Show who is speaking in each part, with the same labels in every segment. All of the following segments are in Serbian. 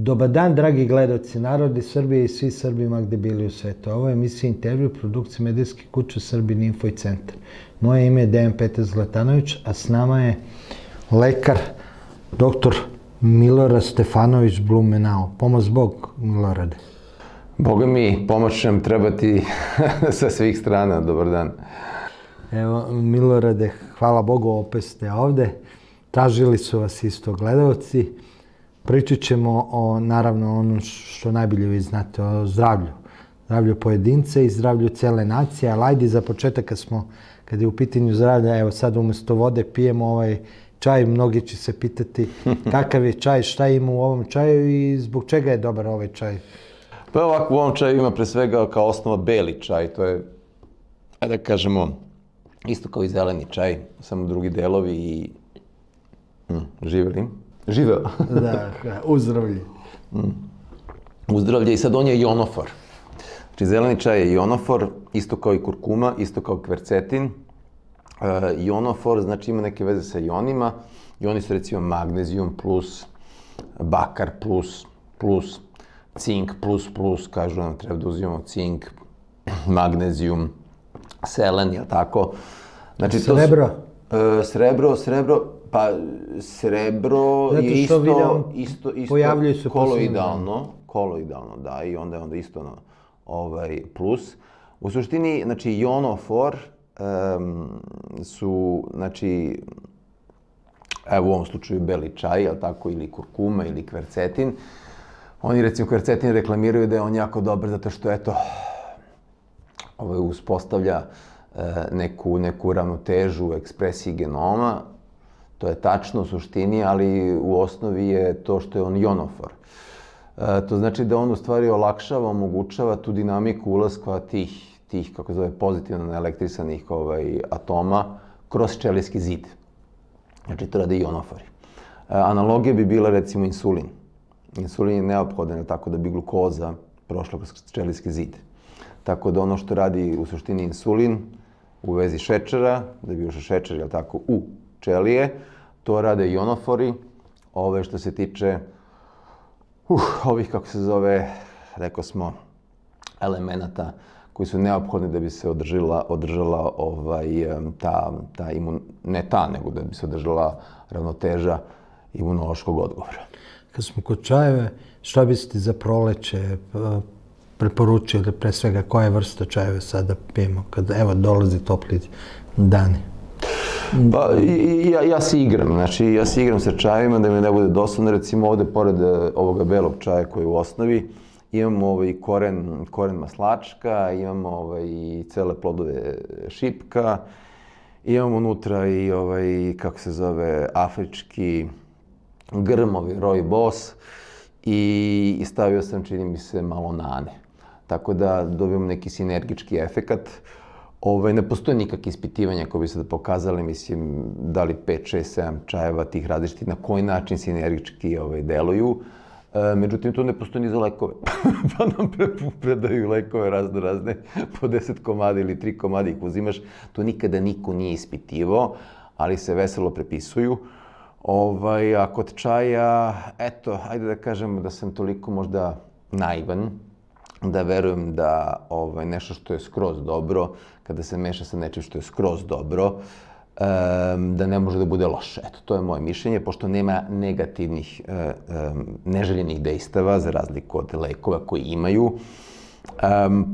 Speaker 1: Dobar dan, dragi gledaoci, narodi Srbije i svi Srbima gde bili u svetu. Ovo je emisija intervju produkcije medijske kuće Srbin Info i Centar. Moje ime je Dejan Petar Zlatanović, a s nama je lekar, doktor Milorad Stefanović Blumenau. Pomoz Bog, Milorade.
Speaker 2: Boga mi, pomoć nam trebati sa svih strana. Dobar dan.
Speaker 1: Evo, Milorade, hvala Bogu, opet ste ovde. Tražili su vas isto gledaoci. Pričat ćemo o, naravno, ono što najbolje vi znate, o zdravlju. Zdravlju pojedinca i zdravlju cele nacije, ali ajde za početak kad je u pitanju zdravlja, evo sad umjesto vode pijemo ovaj čaj, mnogi će se pitati kakav je čaj, šta ima u ovom čaju i zbog čega je dobar ovaj čaj?
Speaker 2: Pa ovako, u ovom čaju ima pre svega kao osnova beli čaj, to je, ajde da kažemo, isto kao i zeleni čaj, samo drugi delovi i živeli. Živeo.
Speaker 1: Da, uzdravlje.
Speaker 2: Uzdravlje i sad on je ionofor. Znači, zeleni čaj je ionofor, isto kao i kurkuma, isto kao kvercetin. Ionofor znači ima neke veze sa ionima. Ioni su recimo magnezijum plus, bakar plus, cink plus, kažu nam treba da uzimamo cink, magnezijum, selen, jel tako? Znači,
Speaker 1: Srebro?
Speaker 2: Srebro, pa srebro je isto koloidalno, da, i onda je isto plus. U suštini, znači, ionofor su, znači, evo u ovom slučaju beli čaj, jel tako, ili kurkuma, ili kvercetin. Oni, recimo, kvercetin reklamiraju da je on jako dobar zato što, eto, uspostavlja neku ravnotežu u ekspresiji genoma. To je tačno u suštini, ali u osnovi je to što je on ionofor. To znači da on u stvari olakšava, omogućava tu dinamiku ulaska tih, kako zove, pozitivno naelektrisanih atoma kroz ćelijski zid. Znači, to rade ionofori. Analogija bi bila, recimo, insulin. Insulin je neophodan tako da bi glukoza prošla kroz ćelijski zid. Tako da ono što radi u suštini insulin u vezi šećera, da bi ušao šećer, jel tako, u ćelije, to rade ionofori. Ove što se tiče ovih, kako se zove, rekao smo, elemenata koji su neophodni da bi se održala nego da bi se održala ravnoteža imunološkog odgovora.
Speaker 1: Kad smo kod čajeve, šta biste za proleće preporučili, pre svega koje vrste čajeve sada pijemo, kad evo dolazi topli dani?
Speaker 2: Pa, ja se igram, znači ja se igram sa čajevima da mi ne bude dosadno. Recimo ovde, pored ovoga belog čaja koji je u osnovi, imamo koren maslačka, imamo i cele plodove šipka, imamo unutra i, kako se zove, afrički grm, rooibos i stavio sam, čini mi se, malo nane. Tako da dobijemo neki sinergički efekat. Ne postoje nikakve ispitivanja koje bi se pokazali, mislim, da li 5, 6, 7 čajeva tih različitih, na koji način sinergički deluju. Međutim, to ne postoji ni za lekove. Pa nam predaju lekove razne, po 10 komada ili 3 komada ih uzimaš. To nikada niko nije ispitivao, ali se veselo prepisuju. A kod čaja, eto, ajde da kažemo da sam toliko možda naivan, da verujem da nešto što je skroz dobro, kada se meša sa nečim što je skroz dobro, da ne može da bude loše. Eto, to je moje mišljenje, pošto nema negativnih, neželjenih dejstava, za razliku od lekova koji imaju,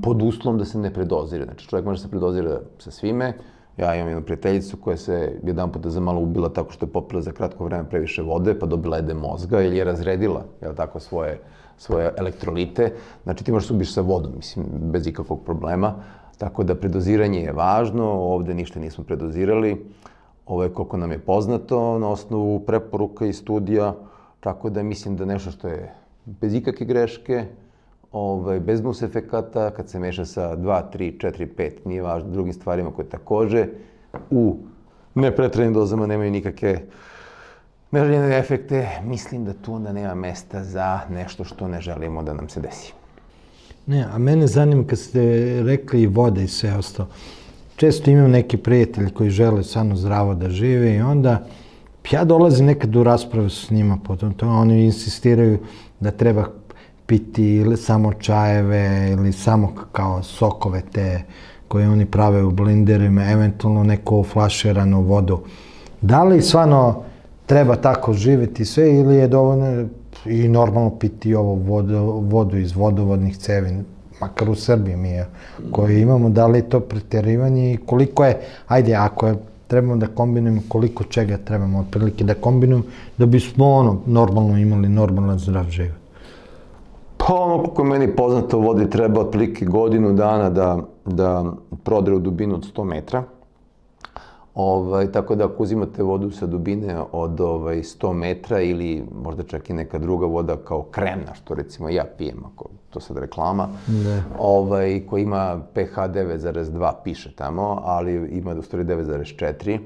Speaker 2: pod uslovom da se ne predozira. Znači, čovjek može se predozira sa svime. Ja imam jednu prijateljicu koja se jedan puta za malo ubila tako što je popila za kratko vreme previše vode, pa dobila edem mozga ili je razredila, jel tako, svoje elektrolite. Znači, ti možeš se ubiš sa vodom, mislim, bez ikakvog problema. Tako da predoziranje je važno, ovde ništa nismo predozirali. Ovo je koliko nam je poznato na osnovu preporuka i studija, tako da mislim da nešto što je bez ikakve greške, bez mus efekata, kad se meša sa 2, 3, 4, 5, nije važno, drugim stvarima koje takođe u nepretrenim dozama nemaju nikakve neželjene efekte, mislim da tu onda nema mesta za nešto što ne želimo da nam se desi.
Speaker 1: Ne, a mene zanima kad ste rekli i voda i sve ostalo. Često imam neki prijatelji koji žele samo zdravo da žive i onda ja dolazim nekad u raspravu s njima potom to. Oni insistiraju da treba piti ili samo čajeve ili samo kao sokove te koje oni prave u blinderima, eventualno neku flaširanu vodu. Da li stvarno treba tako živjeti sve ili je dovoljno i normalno piti ovo vodu iz vodovodnih cevi, makar u Srbiji mi je, koje imamo, da li je to pretjerivanje i koliko je, ajde, ako je, trebamo da kombinujemo koliko čega trebamo otprilike da kombinujemo, da bismo normalno imali normalan zdrav život.
Speaker 2: Pa koliko je meni poznato, vodi treba otprilike godinu dana da prodre u dubinu od 100 metra. Tako da ako uzimate vodu sa dubine od 100 metra ili možda čak i neka druga voda kao kremna, što recimo ja pijem, ako to sad reklama, koja ima pH 9,2 piše tamo, ali ima u stvari 9,4.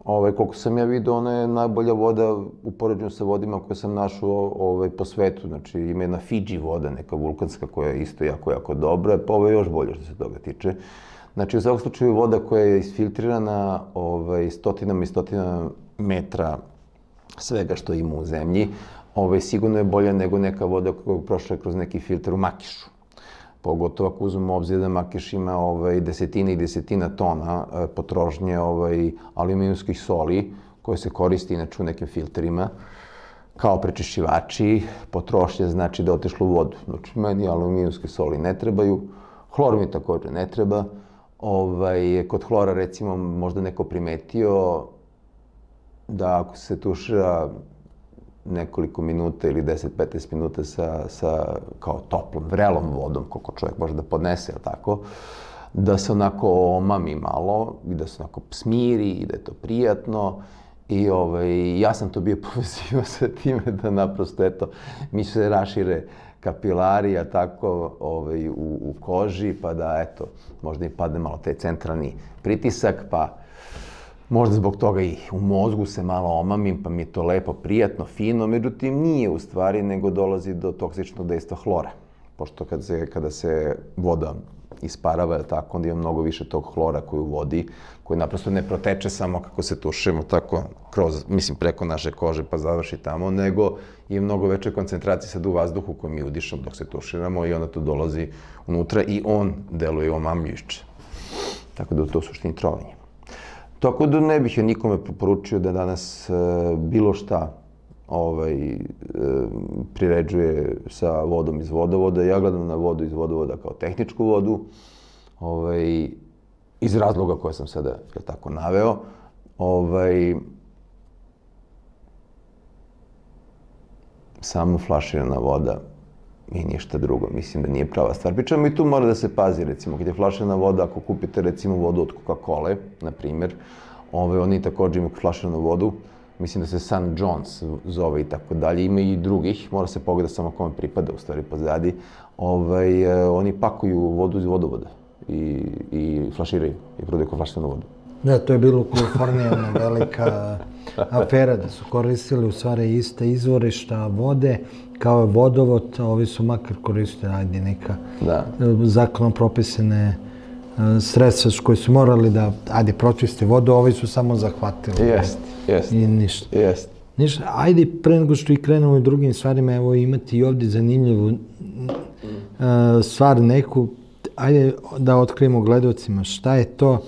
Speaker 2: Koliko sam ja vidio, ona je najbolja voda u poređenju sa vodima koje sam našao po svetu. Znači, ima jedna Fiji voda, neka vulkanska, koja je isto jako dobra, pa ovo je još bolje što se toga tiče. Znači, u svakom slučaju voda koja je isfiltrirana stotinama i stotinama metra svega što ima u zemlji, sigurno je bolja nego neka voda koja je prošla kroz neki filter u Makišu. Pogotovo ako uzmemo obzir da Makiš ima desetina i desetina tona potrošnje aluminijumskih soli koje se koristi inače u nekim filterima kao prečišćivači. Potrošnja znači da je otišlo u vodu. Znači, meni aluminijumske soli ne trebaju, hlor mi također ne treba. Kod hlora, recimo, možda neko primetio da ako se tušira nekoliko minuta ili 10-15 minuta sa kao toplom, vrelom vodom, koliko čovjek može da podnese, tako, da se onako omami malo i da se onako smiri i da je to prijatno. I ja sam to bio povezivao sa time da naprosto, eto, mi se rašire kapilari, a tako, u koži, pa da, eto, možda i padne malo taj centralni pritisak, pa možda zbog toga i u mozgu se malo omamim, pa mi je to lepo, prijatno, fino, međutim nije u stvari, nego dolazi do toksičnog dejstva hlora. Pošto kada se voda isparava, tako, onda ima mnogo više tog hlora koji u vodi, koji naprosto ne proteče samo kako se tušimo, tako, preko naše kože pa završi tamo, nego je mnogo veće koncentracije sad u vazduhu koji mi udišemo dok se tuširamo i onda to dolazi unutra i on deluje omamljujuće. Tako da je to u suštini trovanje. Tako da ne bih nikome preporučio da danas bilo šta priređuje sa vodom iz vodovoda. Ja gledam na vodu iz vodovoda kao tehničku vodu, iz razloga koje sam sada tako naveo. Samo flaširana voda i ništa drugo. Mislim da nije prava stvar. Pričamo i tu mora da se pazi, recimo, kad je flaširana voda, ako kupite, recimo, vodu od Coca-Cola, na primjer, oni također imaju flaširanu vodu, mislim da se St. John's zove i tako dalje, ima i drugih, mora se pogledati samo kome pripada, u stvari, pozadi, oni pakuju vodu iz vodovoda i flaširaju i prodaju kao flaširanu vodu.
Speaker 1: Da, to je bilo u Kaliforniji jedna velika afera, da su koristili u stvari iste izvorišta vode kao vodovod, a ovi su makar koristili, ajde, neka zakonom propisane sredstva koji su morali da, ajde, pročiste vodu, a ovi su samo zahvatili.
Speaker 2: Jest.
Speaker 1: I ništa. Ništa, ajde, pre nego što i krenemo u drugim stvarima, evo imati i ovdje zanimljivu stvar neku, ajde da otkrijemo gledalcima šta je to.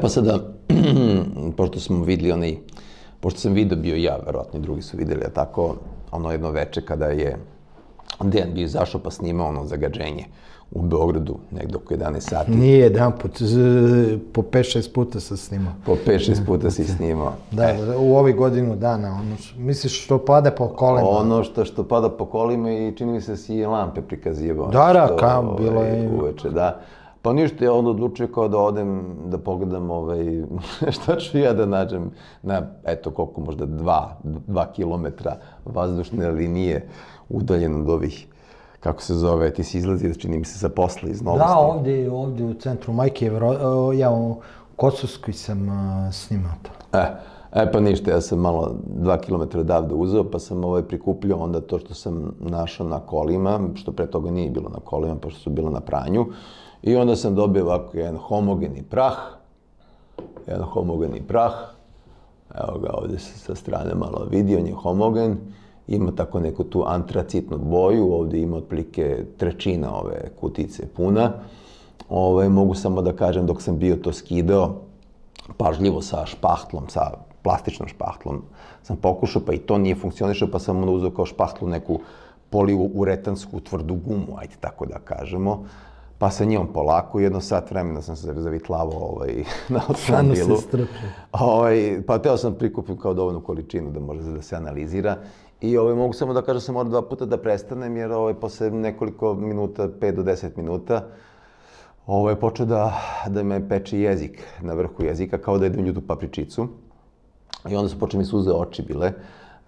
Speaker 2: Pa sada, pošto smo videli pošto sam video bio ja, verovatno i drugi su videli, a tako, ono jedno veče kada je Dejan bio izašao pa snimao ono zagađenje u Beogradu, negdje oko 11 sati.
Speaker 1: Nije jedan put, po 5-6 puta sam snimao.
Speaker 2: Po 5-6 puta si snimao.
Speaker 1: Da, u ovih godinu dana, misliš što pada po kolima?
Speaker 2: Ono što pada po kolima i čini mi se si i lampe prikazivao.
Speaker 1: Da, bilo je.
Speaker 2: Uveče, da. Pa ništa, ja onda odlučio kao da odem, da pogledam šta ću ja da nađem na, eto koliko, možda 2 kilometra vazdušne linije udaljen od ovih, kako se zove, ti si izlazi, čini mi se, sa posla iz Novosti.
Speaker 1: Da, ovdje u centru Majke, ja u Kosovskoj sam snimao to.
Speaker 2: Pa ništa, ja sam malo 2 kilometra odavde uzeo, pa sam prikupljao onda to što sam našao na kolima, što pre toga nije bilo na kolima, pošto su bilo na pranju. I onda sam dobio ovako jedan homogeni prah, evo ga ovdje se sa strane malo vidi, on je homogen, ima tako neku tu antracitnu boju, ovdje ima otprilike trećina ove kutice puna. Mogu samo da kažem, dok sam bio to skidao, pažljivo sa špahtlom, sa plastičnom špahtlom, sam pokušao, pa i to nije funkcionišao, pa sam onda uzeo kao špahtlu neku poliuretansku tvrdu gumu, ajde tako da kažemo. Pa sa njom polako, 1 sat vremena sam se zavitlavao na automobilu. Pa teo sam prikupim kao dovoljnu količinu da može da se analizira. I mogu samo da kažem da sam morao 2 puta da prestanem, jer posle nekoliko minuta, 5 do 10 minuta, je počeo da me peče jezik na vrhu jezika, kao da jedem ljutu papričicu. I onda su počeli mi suze oči bile.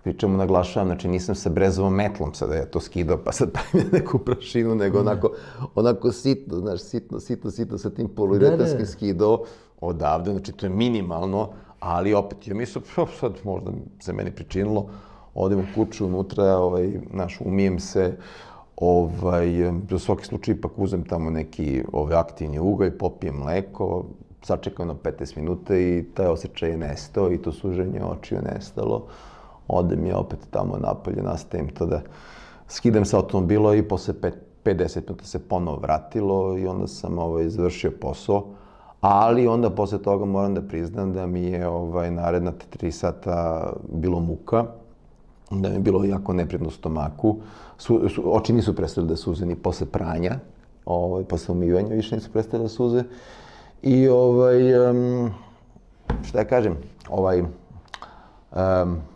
Speaker 2: Pričemu naglašavam, znači nisam sa brezovom metlom sada ja to skidao, pa sad pravim neku prašinu, nego onako sitno, znaš, sitno sa tim poliuretanskim skidao odavde, znači to je minimalno, ali opet, ja mislim, sad možda se meni pričinilo, odem u kuću unutra, znaš, umijem se, za svaki slučaj ipak uzem tamo neki aktivni ugalj, popijem mleko, sačekam 15 minuta i taj osjećaj je nestao i to suženje očiju je nestalo. Odem ja opet tamo napolje, nastavim to da skidam sa automobila i posle 5-10 minuta se ponovo vratilo i onda sam završio posao. Ali onda posle toga moram da priznam da mi je naredna 3 sata bilo muka, da mi je bilo jako neprijatno u stomaku. Oči nisu prestale da suze ni posle pranja, posle umivanja više nisu prestale da suze. I šta ja kažem,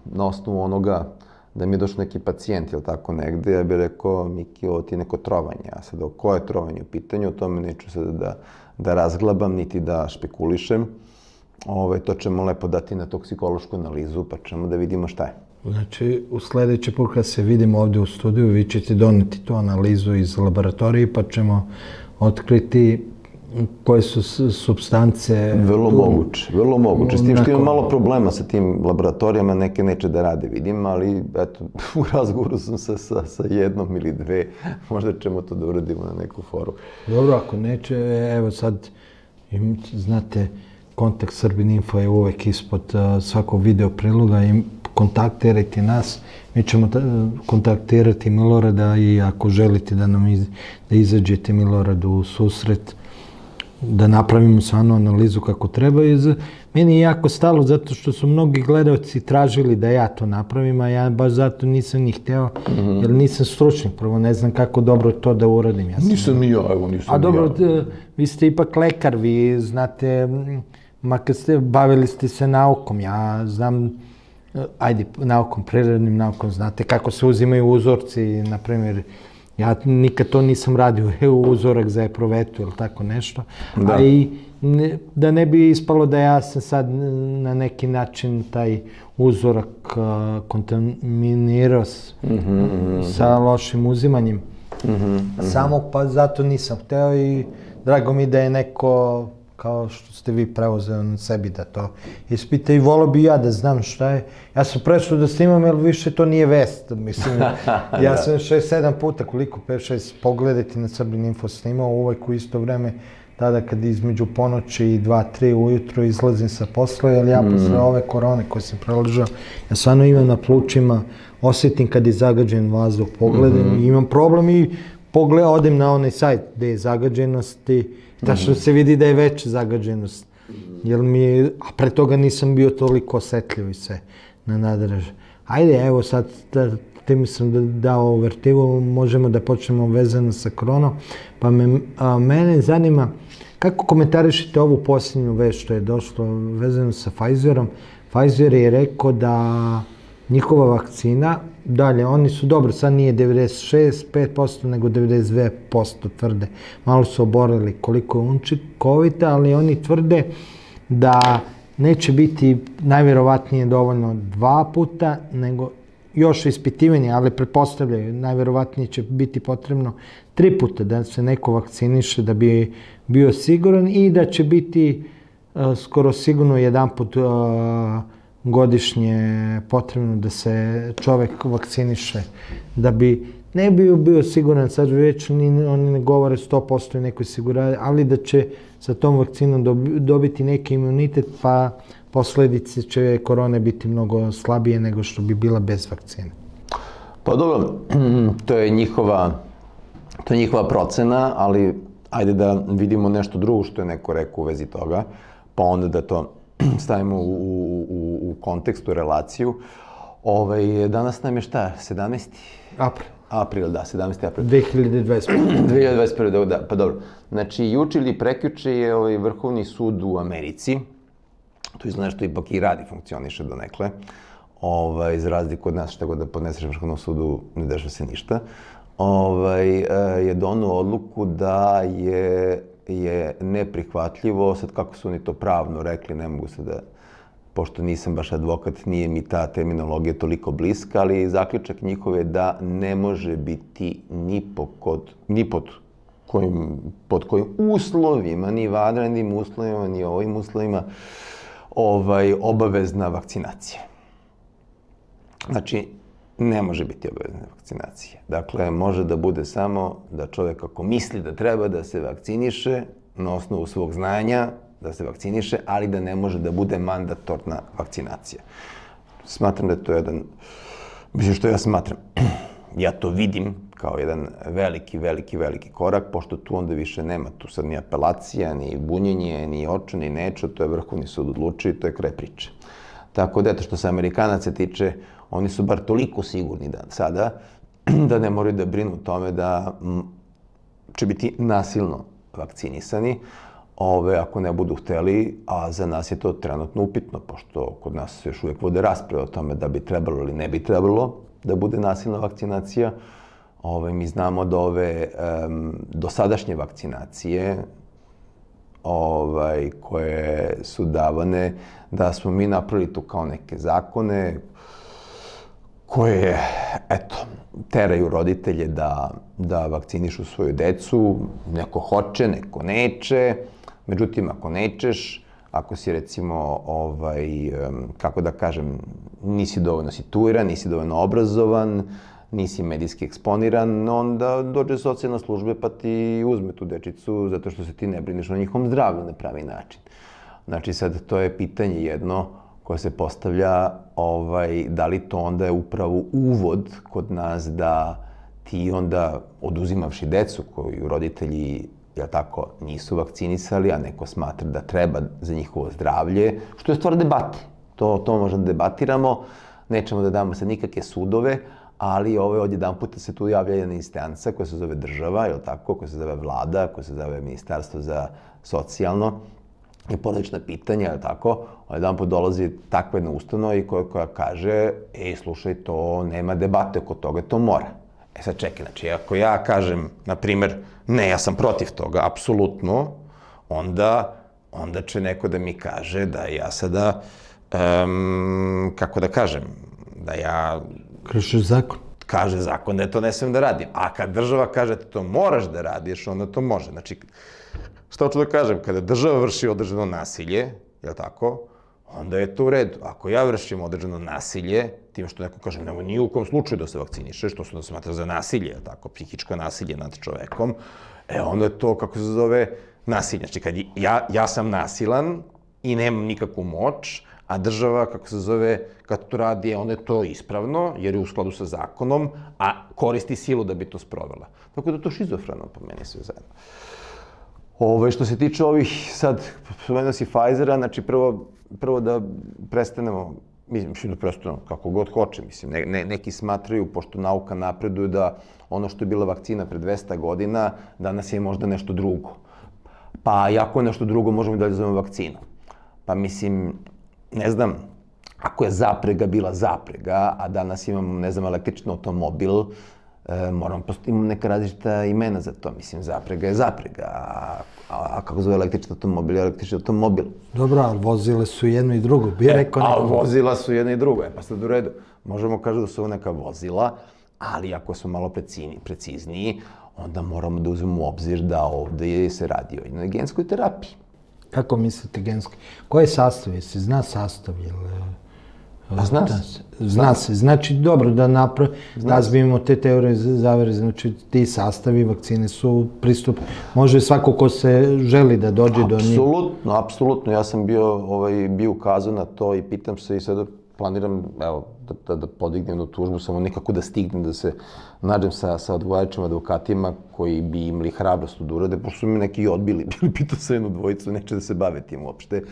Speaker 2: na osnovu onoga da mi je došao neki pacijent ili tako negde, ja bih rekao, Miki, ovo ti je neko trovanje. A sad, koje je trovanje u pitanju, o tome neću sada da razglabam, niti da špekulišem. To ćemo lepo dati na toksikološku analizu, pa ćemo da vidimo šta je.
Speaker 1: Znači, u sledeći put kad se vidimo ovde u studiju, vi ćete doneti tu analizu iz laboratorije, pa ćemo otkriti koje su supstance...
Speaker 2: Vrlo moguće. S tim što imam malo problema sa tim laboratorijama, neke neće da rade, vidim, ali eto, u razgovoru sam sa 1 ili 2, možda ćemo to da uradimo na neku foru.
Speaker 1: Dobro, ako neće, evo sad, znate, Kontakt Srbin Info je uvek ispod svakog video priloga i kontaktirajte nas. Mi ćemo kontaktirati Milorada i ako želite da izađete Miloradu u susret, da napravimo stvarno analizu kako treba. Meni je jako stalo zato što su mnogi gledalci tražili da ja to napravim, a ja baš zato nisam ni hteo, jer nisam stručnik. Prvo, ne znam kako dobro to da uradim.
Speaker 2: Nisam ni ja, evo nisam ni ja.
Speaker 1: A dobro, vi ste ipak lekar, vi znate, makar bavili ste se naukom, ja znam, ajde, naukom, prirodnim naukom, znate kako se uzimaju uzorci, na primjer, ja nikad to nisam radio, uzorak za eprovetu ili tako nešto, a i da ne bi ispalo da ja sam sad na neki način taj uzorak kontaminirao sa lošim uzimanjem samog, pa zato nisam hteo i drago mi da je neko, kao što ste vi preuzeli na sebi da to ispita i volio bi ja da znam šta je. Ja sam prešao da snimam, jer više to nije vest. Mislim, ja sam 6-7 puta, koliko, 5-6 pogledati na Srbin Info snimao, uvek u isto vreme, tada kad između ponoći i 2-3 ujutro izlazim sa posla, jer ja posle ove korone koje sam preležao, ja stvarno imam na plućima, osjetim kad je zagađen vazduh, pogledam i imam problem i odem na onaj sajt gde je zagađenost i tačno se vidi da je veća zagađenost. A pre toga nisam bio toliko osetljiv i sve na nadraže. Ajde, evo sad, tim sam dao uvertivu, možemo da počnemo vezano sa koronom. Pa mene zanima, kako komentarišete ovu posljednju vest što je došlo vezano sa Pfizerom? Pfizer je rekao da njihova vakcina, dalje, oni su dobro, sad nije 96-5%, nego 92% tvrde. Malo su oborili koliko je učinkovita, ali oni tvrde da neće biti najvjerovatnije dovoljno 2 puta, nego još ispitivanje, ali pretpostavljaju, najvjerovatnije će biti potrebno 3 puta da se neko vakciniše da bi bio siguran i da će biti skoro sigurno 1 put godišnje potrebno da se čovek vakciniše, da bi ne bio siguran, sad već oni ne govore 100% i nekoj sigurnosti, ali da će sa tom vakcinom dobiti neki imunitet, pa posledice će korone biti mnogo slabije nego što bi bila bez vakcine.
Speaker 2: Pa dobro, to je njihova procena, ali ajde da vidimo nešto drugo što je neko rekao u vezi toga, pa onda da to stavimo u kontekst, u relaciju. Danas nam je šta? 17.
Speaker 1: April.
Speaker 2: April, da, 17. april.
Speaker 1: 2021.
Speaker 2: 2021, da, pa dobro. Znači, juče ili prekjuče je Vrhovni sud u Americi, to izgleda što ipak i radi, funkcioniše donekle, za razliku od nas, šta god da podneseš Vrhovnom sudu, ne dešava se ništa, je donao odluku da je neprihvatljivo, sad kako su oni to pravno rekli, ne mogu se da, pošto nisam baš advokat, nije mi ta terminologija toliko bliska, ali zaključak njihov je da ne može biti ni pod kojim uslovima, ni vanrednim uslovima, ni ovim uslovima, obavezna vakcinacija. Znači, ne može biti obavezna vakcinacija. Dakle, može da bude samo da čovjek ako misli da treba da se vakciniše, na osnovu svog znanja, da se vakciniše, ali da ne može da bude mandatorna vakcinacija. Smatram da je to mislim što ja smatram, ja to vidim kao jedan veliki korak, pošto tu onda više nema tu sad ni apelacija, ni bunjenje, ni očo, ni nečo, to je Vrhovni sud odlučio i to je kraj priče. Tako da, eto, što se Amerikanaca tiče, oni su bar toliko sigurni sada da ne moraju da brinu o tome da će biti nasilno vakcinisani, ako ne budu hteli, a za nas je to trenutno upitno, pošto kod nas se još uvijek vode rasprave o tome da bi trebalo ili ne bi trebalo da bude nasilna vakcinacija. Mi znamo da ove dosadašnje vakcinacije koje su davane, da smo mi napravili tu kao neke zakone koje, eto, teraju roditelje da vakcinišu svoju decu. Neko hoće, neko neće. Međutim, ako nećeš, ako si recimo, kako da kažem, nisi dovoljno situiran, nisi dovoljno obrazovan, nisi medijski eksponiran, onda dođe socijalna služba pa ti uzme tu dečicu zato što se ti ne brineš o njihovom zdravlju na pravi način. Znači sad to je pitanje jedno koje se postavlja, da li to onda je upravo uvod kod nas da ti onda oduzimavši decu koju roditelji, jel tako, nisu vakcinisali, a neko smatra da treba za njihovo zdravlje, što je stvar debate. To možemo da debatiramo, nećemo da damo sad nikakve sudove, ali odjedan puta se tu javlja jedna instanca koja se zove država, jel tako, koja se zove vlada, koja se zove Ministarstvo za socijalno i porodična pitanja, jel tako, odjedan put dolazi takva jedna ustanova i koja kaže, slušaj, to nema debate oko toga, to mora. Sad čekaj, znači, ako ja kažem, na primer, ne, ja sam protiv toga, apsolutno, onda će neko da mi kaže da ja sada, kako da kažem, da ja...
Speaker 1: Kršiš zakon.
Speaker 2: Kaže zakon da je to ne smem da radim. A kad država kaže da to moraš da radiš, onda to može. Znači, šta hoću da kažem, kada država vrši određeno nasilje, jel tako, onda je to u redu. Ako ja vršim određeno nasilje, time što neko kaže, nemoj ni u kom slučaju da se vakcinišeš, to se smatra za nasilje, jel tako, psihičko nasilje nad čovekom, onda je to, kako se zove, nasilje. Znači, kad ja sam nasilan i nemam nikakvu moć, a država, kako se zove, kad to radi, onda je to ispravno, jer je u skladu sa zakonom, a koristi silu da bi to sprovela. Tako da je to šizofreno po meni sve zajedno. Što se tiče ovih, sad, spomenuo si Pfizera, znači prvo da prestanemo, mislim da prestanemo kako god hoće, mislim, neki smatraju, pošto nauka napreduje, da ono što je bila vakcina pre 200 godina, danas je možda nešto drugo. Pa ako je nešto drugo, možemo i dalje zovemo vakcinu. Pa mislim, ne znam, ako je zaprega bila zaprega, a danas imamo, ne znam, električni automobil, moramo imamo neka različita imena za to. Mislim, zaprega je zaprega, a kako zove električni automobil je električni automobil.
Speaker 1: Dobro, ali vozile su jedno i drugo, bi rekao neko.
Speaker 2: A vozila su jedno i drugo, pa sad u redu. Možemo kažu da su ovo neka vozila, ali ako su malo precizniji, onda moramo da uzmemo u obzir da ovde se radi o jednoj genskoj terapiji.
Speaker 1: Kako mislite genski? Koji je sastav? Jesi zna sastav? Zna se. Znači, dobro da razbijemo te teorije zavere. Znači, ti sastavi vakcine su pristup. Može svako ko se želi da dođe do njih.
Speaker 2: Apsolutno. Ja sam bio ukazao na to i pitam se i sada planiram, evo, da podignem jednu tužbu, samo nekako da stignem, da se nađem sa odgovarajućim advokatima koji bi imali hrabrost da urade, pošto su mi neki odbili, bili pitao sa jednu dvojicu, neće da se bave tim uopšte,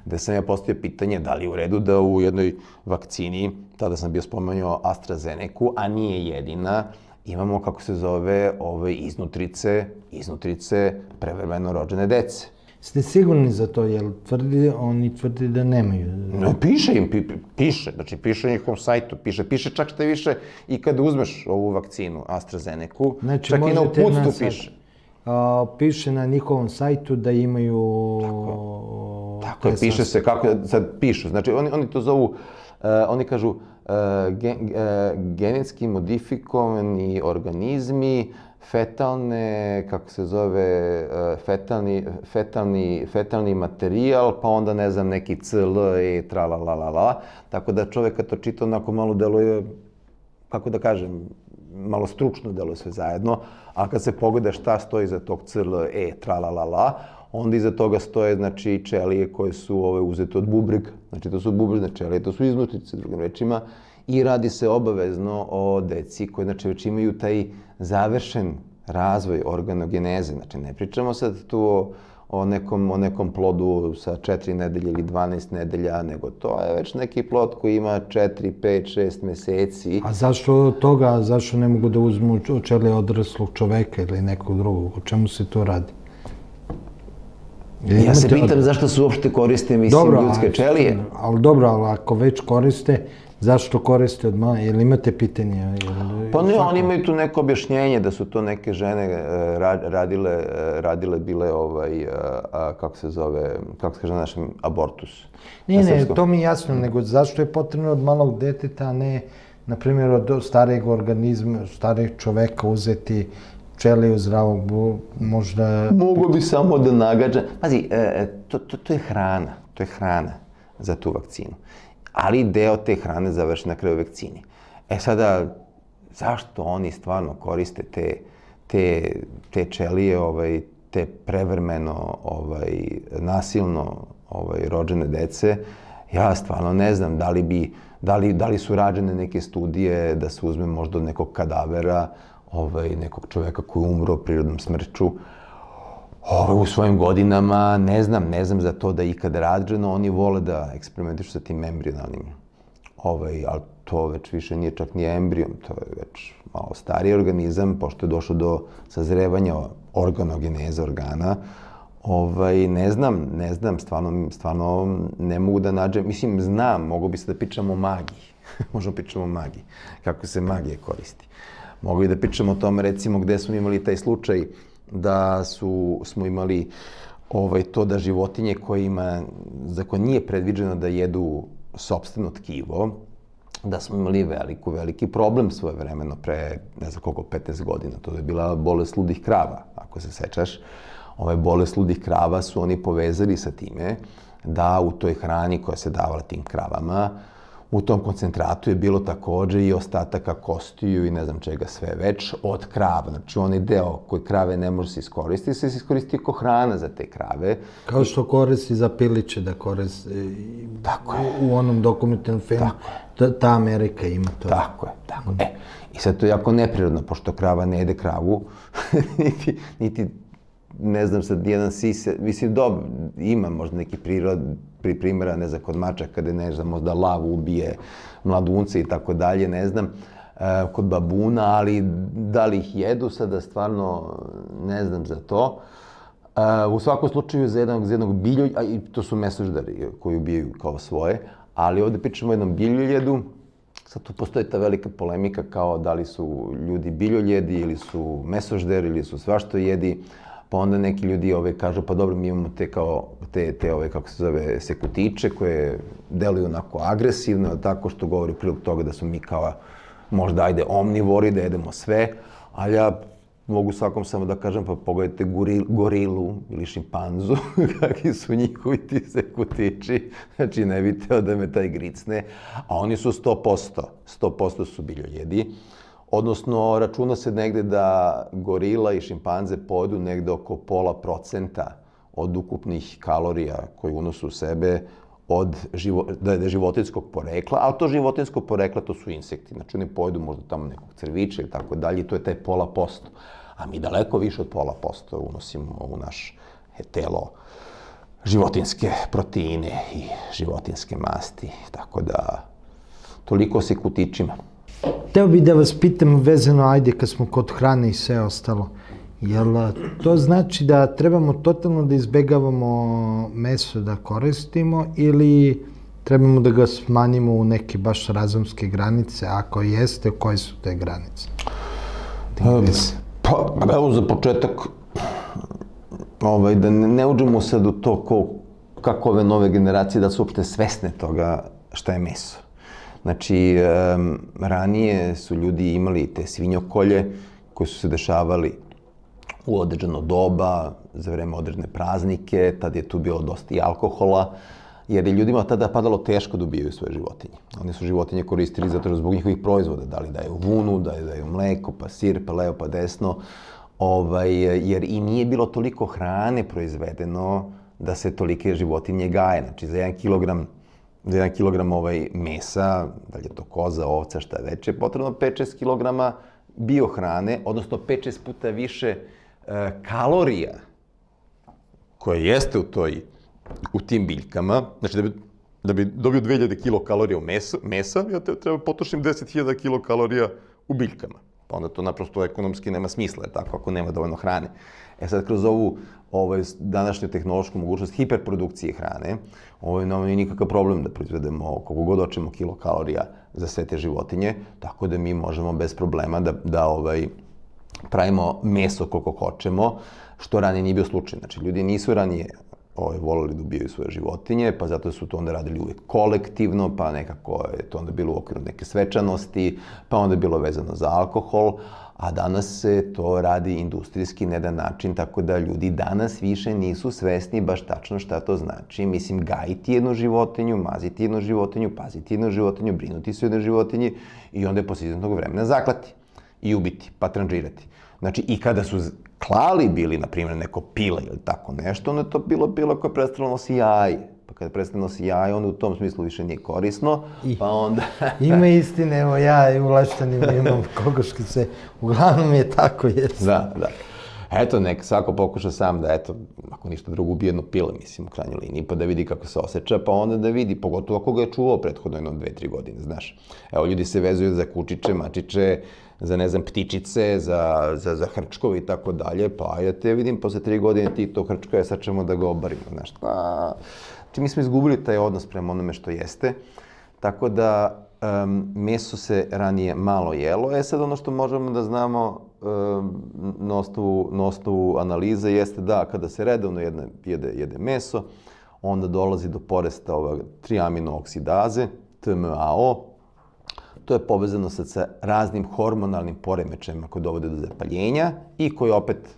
Speaker 2: gde sam ja postavio pitanje da li je u redu da u jednoj vakcini, tada sam bio spomenuo AstraZeneku, a nije jedina, imamo, kako se zove, iznutrice prevremeno rođene dece.
Speaker 1: Ste sigurni za to, jer oni tvrdi da nemaju?
Speaker 2: No, piše im, piše na njihovom sajtu, piše čak što više i kada uzmeš ovu vakcinu AstraZeneku, čak i na uputstvu piše.
Speaker 1: Piše na njihovom sajtu da imaju...
Speaker 2: Tako je, piše se, kako sad pišu, znači oni to zovu, oni kažu genetski modifikovani organizmi, fetalne, kako se zove, fetalni materijal, pa onda ne znam, neki CL i tralalala, tako da čovek kad to čita onako malo deluje, kako da kažem, malo stručno deluje sve zajedno, a kad se pogleda šta stoji iza tog CL, tralalala, onda iza toga stoje, znači, ćelije koje su uzete od bubrega, znači to su bubrežne ćelije, to su iznutrice, drugim rečima, i radi se obavezno o deci koji, znači, već imaju taj završen razvoj organogeneze. Znači, ne pričamo sad tu o nekom plodu sa 4 nedelje ili 12 nedelja, nego to je već neki plod koji ima 4, 5, 6 meseci.
Speaker 1: A zašto ne mogu da uzmu ćelije odraslog čoveka ili nekog drugog? O čemu se to radi?
Speaker 2: Ja se pitam zašto se uopšte koriste, mislim, ljudske ćelije.
Speaker 1: Ali ako već koriste, zašto koriste od mala? Jel imate pitanje?
Speaker 2: Pa ne, oni imaju tu neko objašnjenje da su to neke žene radile bile, kako se kaže na našem, abortus.
Speaker 1: Ne, to mi je jasno, nego zašto je potrebno od malog deteta, a ne, na primjer, od starijeg organizma, starijeg čoveka uzeti ćeliju zdravog, možda...
Speaker 2: Mogu bi samo da nagađam. Pazi, to je hrana za tu vakcinu. Ali deo te hrane završi na kraju vakcini. Sada, zašto oni stvarno koriste te ćelije, te prevremeno, nasilno rođene dece? Ja stvarno ne znam da li su rađene neke studije da se uzme možda od nekog kadavera, nekog čoveka koji je umro prirodnom smrću u svojim godinama, ne znam za to da je ikada rađeno, oni vole da eksperimentišu sa tim embrionalnim, ali to već više nije čak ni embrijom, to je već malo stariji organizam, pošto je došlo do sazrevanja organogeneze organa. Ne znam, stvarno ne mogu da nađem, mislim, znam, mogu bi se da pričamo o magiji, možemo pričamo o magiji, kako se magija koristi. Mogu bi da pričamo o tome, recimo, gde smo imali taj slučaj da smo imali to da životinje za koje nije predviđeno da jedu sopstveno tkivo, da smo imali veliki problem svojevremeno pre, ne znam koliko, 15 godina. To je bila bolest ludih krava, ako se sećaš. Ove bolest ludih krava su oni povezali sa time da u toj hrani koja se davala tim kravama, u tom koncentratu je bilo takođe i ostataka kostiju i ne znam čega sve već od krava. Znači, onaj deo koji krave ne može se iskoristiti, se iskoristi kao hrana za te krave.
Speaker 1: Kao što koristi za piliće da koristi u onom dokumentarnom filmu. Ta Amerika ima to.
Speaker 2: Tako je. I sad to je jako neprirodno, pošto krava ne jede kravu, niti ne znam sad, jedan sise, mislim, dobro, ima možda neki primjera, ne znam, kod mačaka, kada ne znam, možda lav ubije mladunce i tako dalje, ne znam, kod babuna, ali da li ih jedu, sada stvarno ne znam za to. U svakom slučaju za jednog biljolja, i to su mesoždari koji ubijaju kao svoje, ali ovde pričamo o jednom biljoljedu. Sad tu postoji ta velika polemika kao da li su ljudi biljoljedi ili su mesožderi ili su svašta jedi. Pa onda neki ljudi kažu, pa dobro, mi imamo te kako se zove, sekutiče koje deluju onako agresivno, tako što govori prilog toga da smo mi kao možda ajde omnivori, da jedemo sve, ali ja mogu svakom samo da kažem, pa pogledajte gorilu ili šimpanzu, kakvi su njihovi ti sekutiči, znači ne bi teo da me taj gricne, a oni su 100% su biljoljedi. Odnosno, računa se negde da gorila i šimpanze pojedu negde oko 0,5% od ukupnih kalorija koje unosu u sebe da je životinjskog porekla, ali to životinjsko porekla to su insekti, znači oni pojedu možda tamo nekog crvića ili tako dalje i to je taj 0,5%. A mi daleko više od 0,5% unosimo u naš telo životinjske proteine i životinjske masti, tako da toliko se kutičima.
Speaker 1: Hteo bih da vas pitam vezano, ajde, kad smo kod hrane i sve ostalo, jel to znači da trebamo totalno da izbegavamo meso da koristimo ili trebamo da ga smanjimo u neke baš razumske granice? Ako jeste, koje su te granice?
Speaker 2: Pa, evo za početak, da ne uđemo sad u to kako ove nove generacije da su uopšte svesne toga šta je meso. Znači, ranije su ljudi imali te svinjokolje koje su se dešavali u određeno doba, za vreme određene praznike, tad je tu bilo dosta i alkohola, jer je ljudima tada padalo teško da ubijaju svoje životinje. Oni su životinje koristili zato zbog njihovih proizvoda, da li daju vunu, da daju mleko, pa sir, pa levo, pa desno, jer i nije bilo toliko hrane proizvedeno da se tolike životinje gaje. Znači, za 1 kilogram mesa, da li je to koza, ovca, šta već, je potrebno 5-6 kilograma biohrane, odnosno 5-6 puta više kalorija koje jeste u tim biljkama. Znači, da bi dobio 2000 kilokalorija u mesa, ja treba potrošim 10.000 kilokalorija u biljkama. Pa onda to naprosto ekonomski nema smisla, tako, ako nema dovoljno hrane. Sad, kroz ovu današnju tehnološku mogućnost hiperprodukcije hrane, nam nije nikakav problem da proizvedemo koliko god hoćemo kilokalorija za sve te životinje, tako da mi možemo bez problema da pravimo meso koliko hoćemo, što ranije nije bio slučaj. Znači, ljudi nisu ranije voleli da ubijaju svoje životinje, pa zato su to onda radili uvijek kolektivno, pa nekako je to onda bilo u okviru neke svečanosti, pa onda je bilo vezano za alkohol, a danas se to radi industrijski na jedan način, tako da ljudi danas više nisu svesni baš tačno šta to znači. Mislim, gajiti jednu životinju, maziti jednu životinju, paziti jednu životinju, brinuti se o jednoj životinji i onda je posle izvesnog vremena zaklati i ubiti, pa tranžirati. Znači, i kada su klali bili, na primjer, neko pile ili tako nešto, onda je to bilo koje prestalo nosi jaje. Pa kada prestane nosi jaje, onda u tom smislu više nije korisno, pa onda...
Speaker 1: Ima istine, evo ja i u Leštanima imam kokoškice, uglavnom je tako, jesu.
Speaker 2: Da. Eto, nek svako pokuša sam da, eto, ako ništa drugo, ubije jedno pile, mislim, u krajnjoj liniji, pa da vidi kako se osjeća, pa onda da vidi, pogotovo ako ga je čuvao prethodno 2-3 godine, znaš. Evo, ljudi se vezuju za kučiće, mačiće, za, ne znam, ptičice, za hrčkove i tako dalje, pa ja te vidim, posle 3 godine ti to hrčka, sad ćemo da ga obarimo, znaš. Znači, mi smo izgubili taj odnos prema onome što jeste, tako da meso se ranije malo jelo. Sad ono što možemo da znamo na osnovu analize jeste da kada se redovno jede meso, onda dolazi do porasta 3-aminoksidaze, TMAO. To je povezano sa raznim hormonalnim poremećajima koji dovode do zapaljenja i koji opet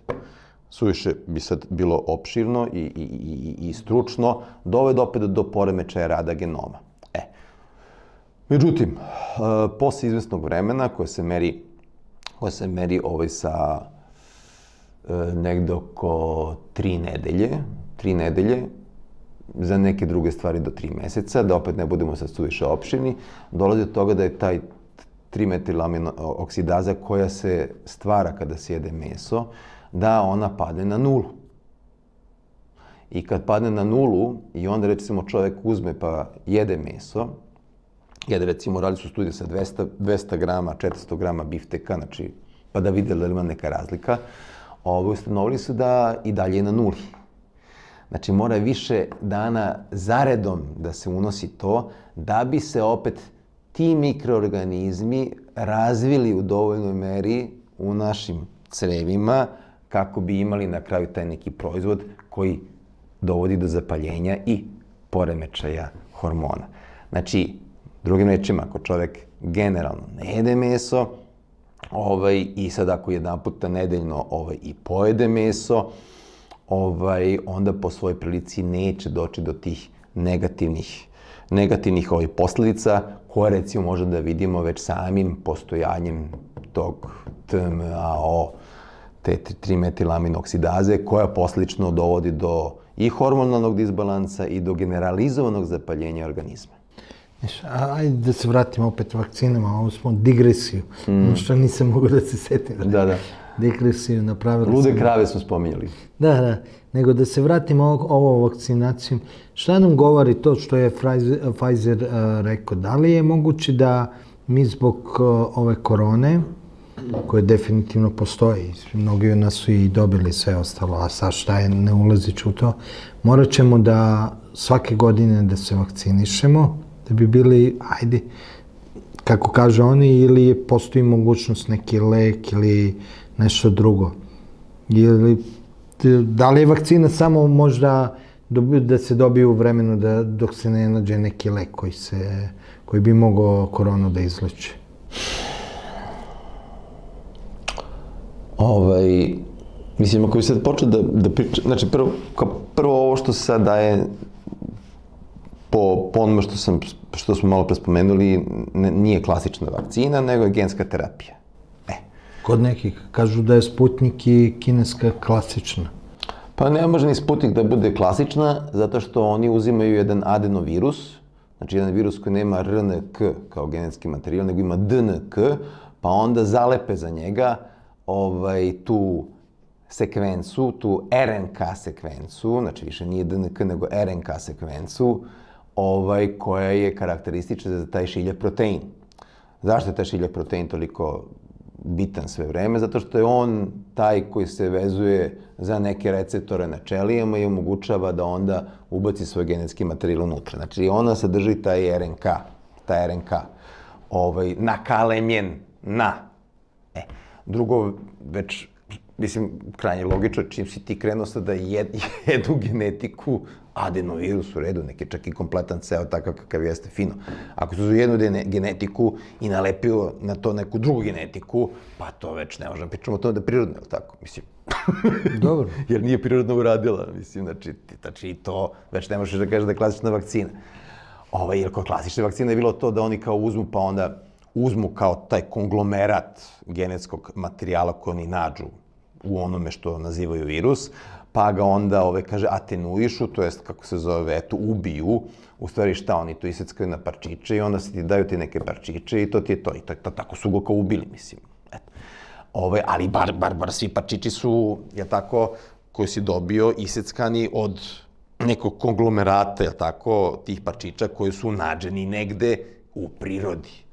Speaker 2: suviše bi sad bilo opširno i stručno, dovede opet do poremećaja rada genoma. Međutim, posle izvesnog vremena koje se meri sa negde oko 3 nedelje, za neke druge stvari do 3 meseca, da opet ne budemo sad suviše opširni, dolazi do toga da je taj 3-metilaminoksidaza koja se stvara kada se jede meso, da ona padne na 0. I kad padne na 0 i onda recimo čovjek uzme pa jede meso, recimo radili su studije sa 200 grama, 400 grama bifteka, znači pa da vide da ima neka razlika, ustanovili su da i dalje je na 0. Znači mora više dana zaredom da se unosi to, da bi se opet ti mikroorganizmi razvili u dovoljnoj meri u našim crevima, kako bi imali na kraju taj neki proizvod koji dovodi do zapaljenja i poremećaja hormona. Znači, drugim rečima, ako čovjek generalno ne jede meso, i sad ako jedan puta nedeljno i pojede meso, onda po svojoj prilici neće doći do tih negativnih posljedica, koje recimo možemo da vidimo već samim postojanjem tog TMAO, te 3-metilaminoksidaze, koja posljedično dovodi do i hormonalnog disbalansa i do generalizovanog zapaljenja organizma.
Speaker 1: Ajde da se vratimo opet vakcinama, ovo smo digresiju, što nisam mogao da se setim.
Speaker 2: Da.
Speaker 1: Digresiju napravili.
Speaker 2: Lude krave smo spominjali.
Speaker 1: Da, nego da se vratimo ovo vakcinaciju. Šta nam govori to što je Pfizer rekao? Da li je moguće da mi zbog ove korone, koje definitivno postoji, mnogi od nas su i dobili sve ostalo, a sad šta je, ne ulaziću u to, morat ćemo da svake godine da se vakcinišemo, da bi bili, ajde, kako kaže oni, ili postoji mogućnost neki lek ili nešto drugo. Da li je vakcina samo možda da se dobije u vremenu dok se ne nađe neki lek koji bi mogao koronu da izleči?
Speaker 2: Mislim, ako bi sad počeo da pričam, znači prvo ovo što se sad daje po onome što smo malo pre spomenuli, nije klasična vakcina, nego je genska terapija.
Speaker 1: Kod nekih kažu da je Sputnik i kineska klasična.
Speaker 2: Pa ne može ni Sputnik da bude klasična, zato što oni uzimaju jedan adenovirus, znači jedan virus koji nema RNK kao genetski materijal, nego ima DNK, pa onda zalepe za njega tu sekvencu, tu RNK sekvencu, znači više nije DNK nego RNK sekvencu, koja je karakteristična za taj šiljak protein. Zašto je taj šiljak protein toliko bitan sve vreme? Zato što je on taj koji se vezuje za neke receptore na ćelijama i omogućava da onda ubaci svoj genetski materijal unutra. Znači ona sadrži taj RNK, nakalemljen na. Drugo, već, mislim, krajnje logično, čim si ti krenuo sad da jedu genetiku, adenovirus u redu, neki čak i kompletan ceo takav kakav jeste, fino. Ako su jednu genetiku i nalepio na to neku drugu genetiku, pa to već ne možemo pričamo o tome da je prirodno, je li tako? Mislim,
Speaker 1: dobro.
Speaker 2: Jer nije prirodno uradila, mislim, znači i to već ne možeš da kažeš da je klasična vakcina. Jer kod klasične vakcine je bilo to da oni kao uzmu, pa onda uzmu kao taj konglomerat genetskog materijala koji oni nađu u onome što nazivaju virus, pa ga onda, kaže, atenuišu, to jest, kako se zove, ubiju, u stvari šta, oni to iseckaju na parčiće i onda se ti daju ti neke parčiće i to ti je to. I tako su ga kao ubili, mislim. Ali bar svi parčići su, je tako, koji si dobio, iseckani od nekog konglomerata, je tako, tih parčića koji su nađeni negde u prirodi.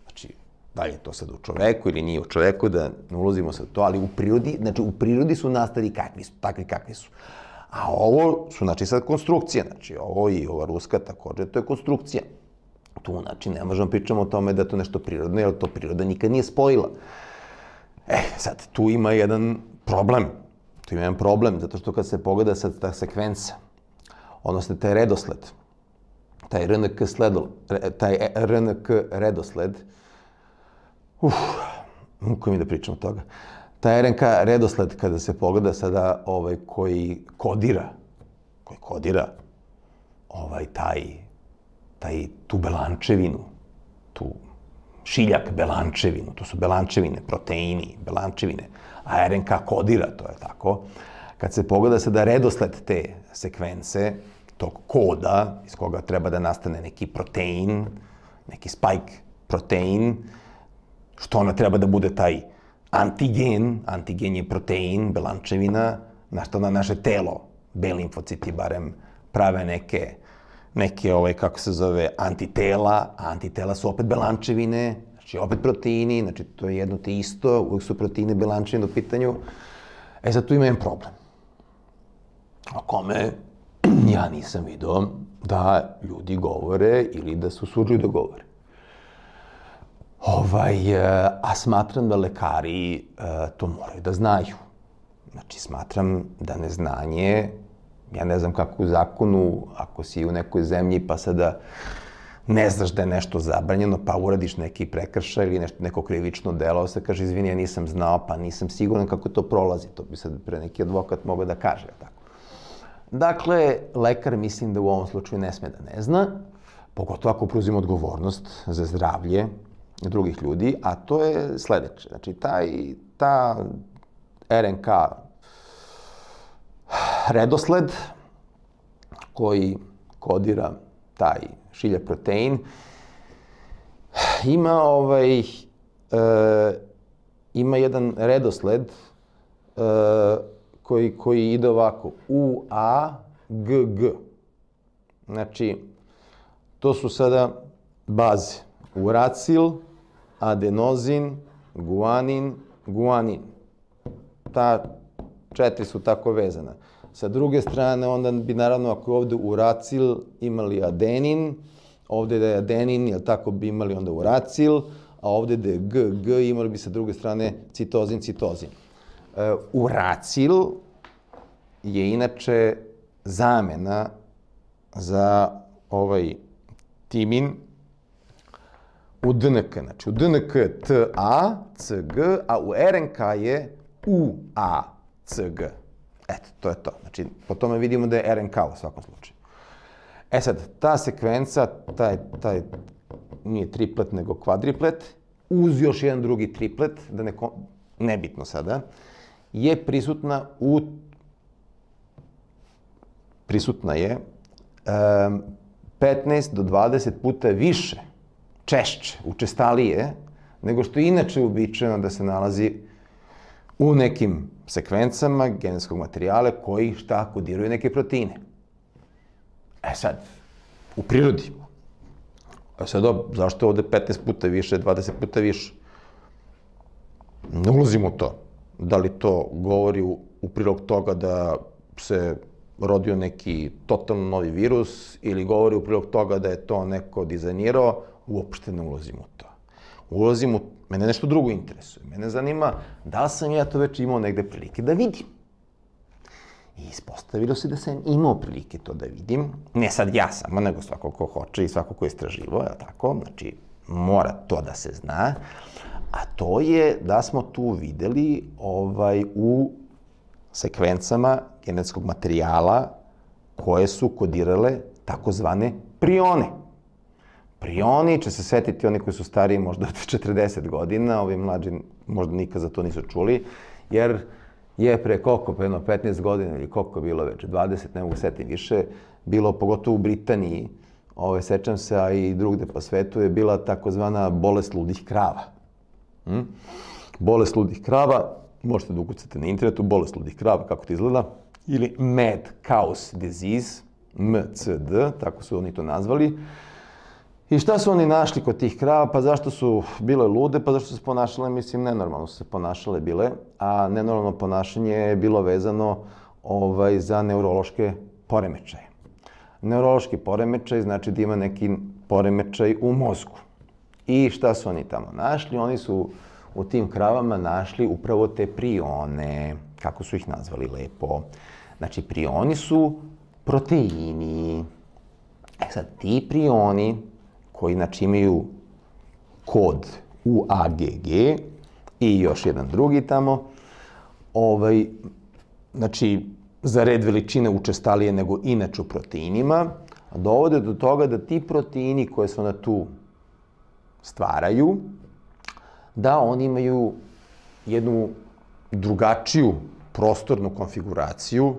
Speaker 2: Znači, da li je to sad u čoveku ili nije u čoveku, da ne ulazimo sad to, ali u prirodi su nastali takvi kakvi su. A ovo su, znači, sad konstrukcija, znači, ovo i ova ruska takođe, to je konstrukcija. Tu, znači, ne možemo pričamo o tome da je to nešto prirodno, jer to priroda nikad nije spojila. Sad, tu ima jedan problem. Zato što kad se pogleda sad ta sekvenca, odnosno taj redosled, taj RNK redosled, muko mi da pričam o toga. Taj RNK redosled, kada se pogleda sada koji kodira tu belančevinu, tu šiljak belančevinu, to su belančevine, proteini, belančevine, a RNK kodira, to je tako. Kad se pogleda sada redosled te sekvence, tog koda iz koga treba da nastane neki protein, neki spike protein, što ona treba da bude taj antigen je protein, belančevina, na što na naše telo, B limfociti barem, prave neke, kako se zove, antitela, a antitela su opet belančevine, znači opet proteini, znači to je jedno te isto, uvijek su proteine belančevine u pitanju. Sad tu ima jedan problem, o kome ja nisam vidio da ljudi govore ili da se usuđuju da govore. A smatram da lekari to moraju da znaju. Znači, smatram da neznanje, ja ne znam kako u zakonu, ako si u nekoj zemlji pa sada ne znaš da je nešto zabranjeno, pa uradiš neki prekršaj ili neko krivično delo, se kaže, izvini, ja nisam znao, pa nisam siguran kako to prolazi. To bi sad pre neki advokat mogao da kaže, tako. Dakle, lekar mislim da u ovom slučaju ne sme da ne zna, pogotovo ako preuzima odgovornost za zdravlje drugih ljudi, a to je sledeće. Znači, ta RNK redosled koji kodira taj šilja protein ima jedan redosled koji ide ovako UAGG. Znači, to su sada baze. Uracil, adenozin, guanin, guanin. Ta 4 su tako vezana. Sa druge strane, onda bi naravno, ako je ovde uracil, imali adenin, ovde da je adenin, jel tako, bi imali onda uracil, a ovde da je GG, imali bi sa druge strane citozin, citozin. Uracil je inače zamena za ovaj timin u DNK. Znači, u DNK je TA, CG, a u RNK je UA, CG. Eto, to je to. Znači, po tome vidimo da je RNK u svakom slučaju. E sad, ta sekvenca, taj nije triplet, nego kvadriplet, uz još jedan drugi triplet, nebitno sada, je prisutna je 15 do 20 puta više, češće, učestalije, nego što je inače uobičajeno da se nalazi u nekim sekvencama genetskog materijala koji šta kodiraju neke proteine. E sad, u prirodi. E sad, zašto je ovde 15 puta više, 20 puta više? Ne ulazimo u to. Da li to govori u prilog toga da se rodio neki totalno novi virus ili govori u prilog toga da je to neko dizajnirao, uopšte ne ulazimo u to. Mene nešto drugo interesuje. Mene zanima da li sam ja to već imao negde prilike da vidim. I ispostavilo se da sam imao prilike to da vidim. Ne sad ja samo, nego svako ko hoće i svako ko je istraživao, je tako? Znači, mora to da se zna. A to je da smo tu videli u sekvencama genetskog materijala koje su kodirale takozvane prione. Prioni, će se setiti oni koji su stariji možda od 40 godina, ovi mlađi možda nikad za to nisu čuli, jer je pre jedno 15 godina ili koliko je bilo već, 20, ne mogu setiti više, bilo pogotovo u Britaniji, sećam se, a i drugde po svetu, je bila takozvana bolest ludih krava. Bolest ludih krava, možete da ukucate na internetu, bolest ludih krava, kako to izgleda, ili Mad Cow's Disease, MCD, tako su oni to nazvali. I šta su oni našli kod tih krava? Pa zašto su bile lude? Pa zašto su se ponašale, mislim, nenormalno su se ponašale bile, a nenormalno ponašanje je bilo vezano za neurološke poremećaje. Neurološki poremećaj znači da ima neki poremećaj u mozgu. I šta su oni tamo našli? Oni su u tim kravama našli upravo te prione, kako su ih nazvali lepo. Znači, prioni su proteini. E sad, ti prioni koji znači imaju kod UAGG i još jedan drugi tamo, znači za red veličine učestalije nego inače u proteinima, dovode do toga da ti proteini koje se ona tu stvaraju, da oni imaju jednu drugačiju prostornu konfiguraciju,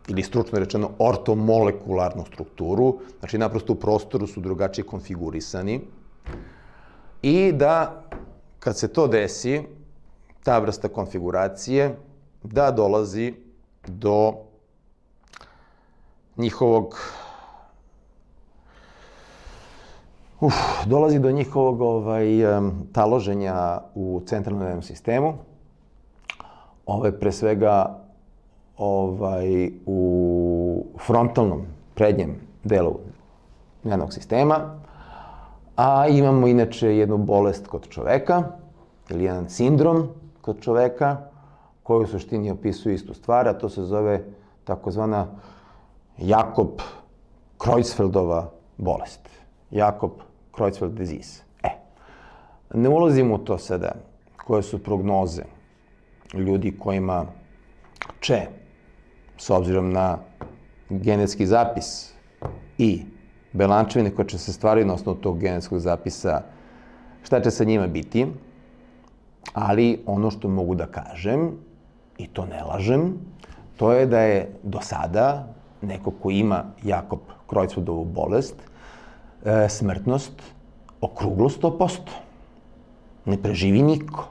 Speaker 2: ili stručno rečeno ortomolekularnu strukturu, znači naprosto u prostoru su drugačije konfigurisani i da kad se to desi, ta vrsta konfiguracije, da dolazi do njihovog taloženja u centralnom nervnom sistemu, pre svega u frontalnom, prednjem delu nervnog sistema, a imamo inače jednu bolest kod čoveka, ili jedan sindrom kod čoveka, koji u suštini opisuje istu stvar, a to se zove takozvana Jakob-Creutzfeldova bolest. Jakob-Creutzfeld disease. Ne ulazimo u to sada, koje su prognoze ljudi kojima će, s obzirom na genetski zapis i belančevine koje će se stvariti na osnovu tog genetskog zapisa, šta će sa njima biti, ali ono što mogu da kažem, i to ne lažem, to je da je do sada neko ko ima Jakob Creutzfeldtovu bolest, smrtnost okruglo 100%. Ne preživi niko.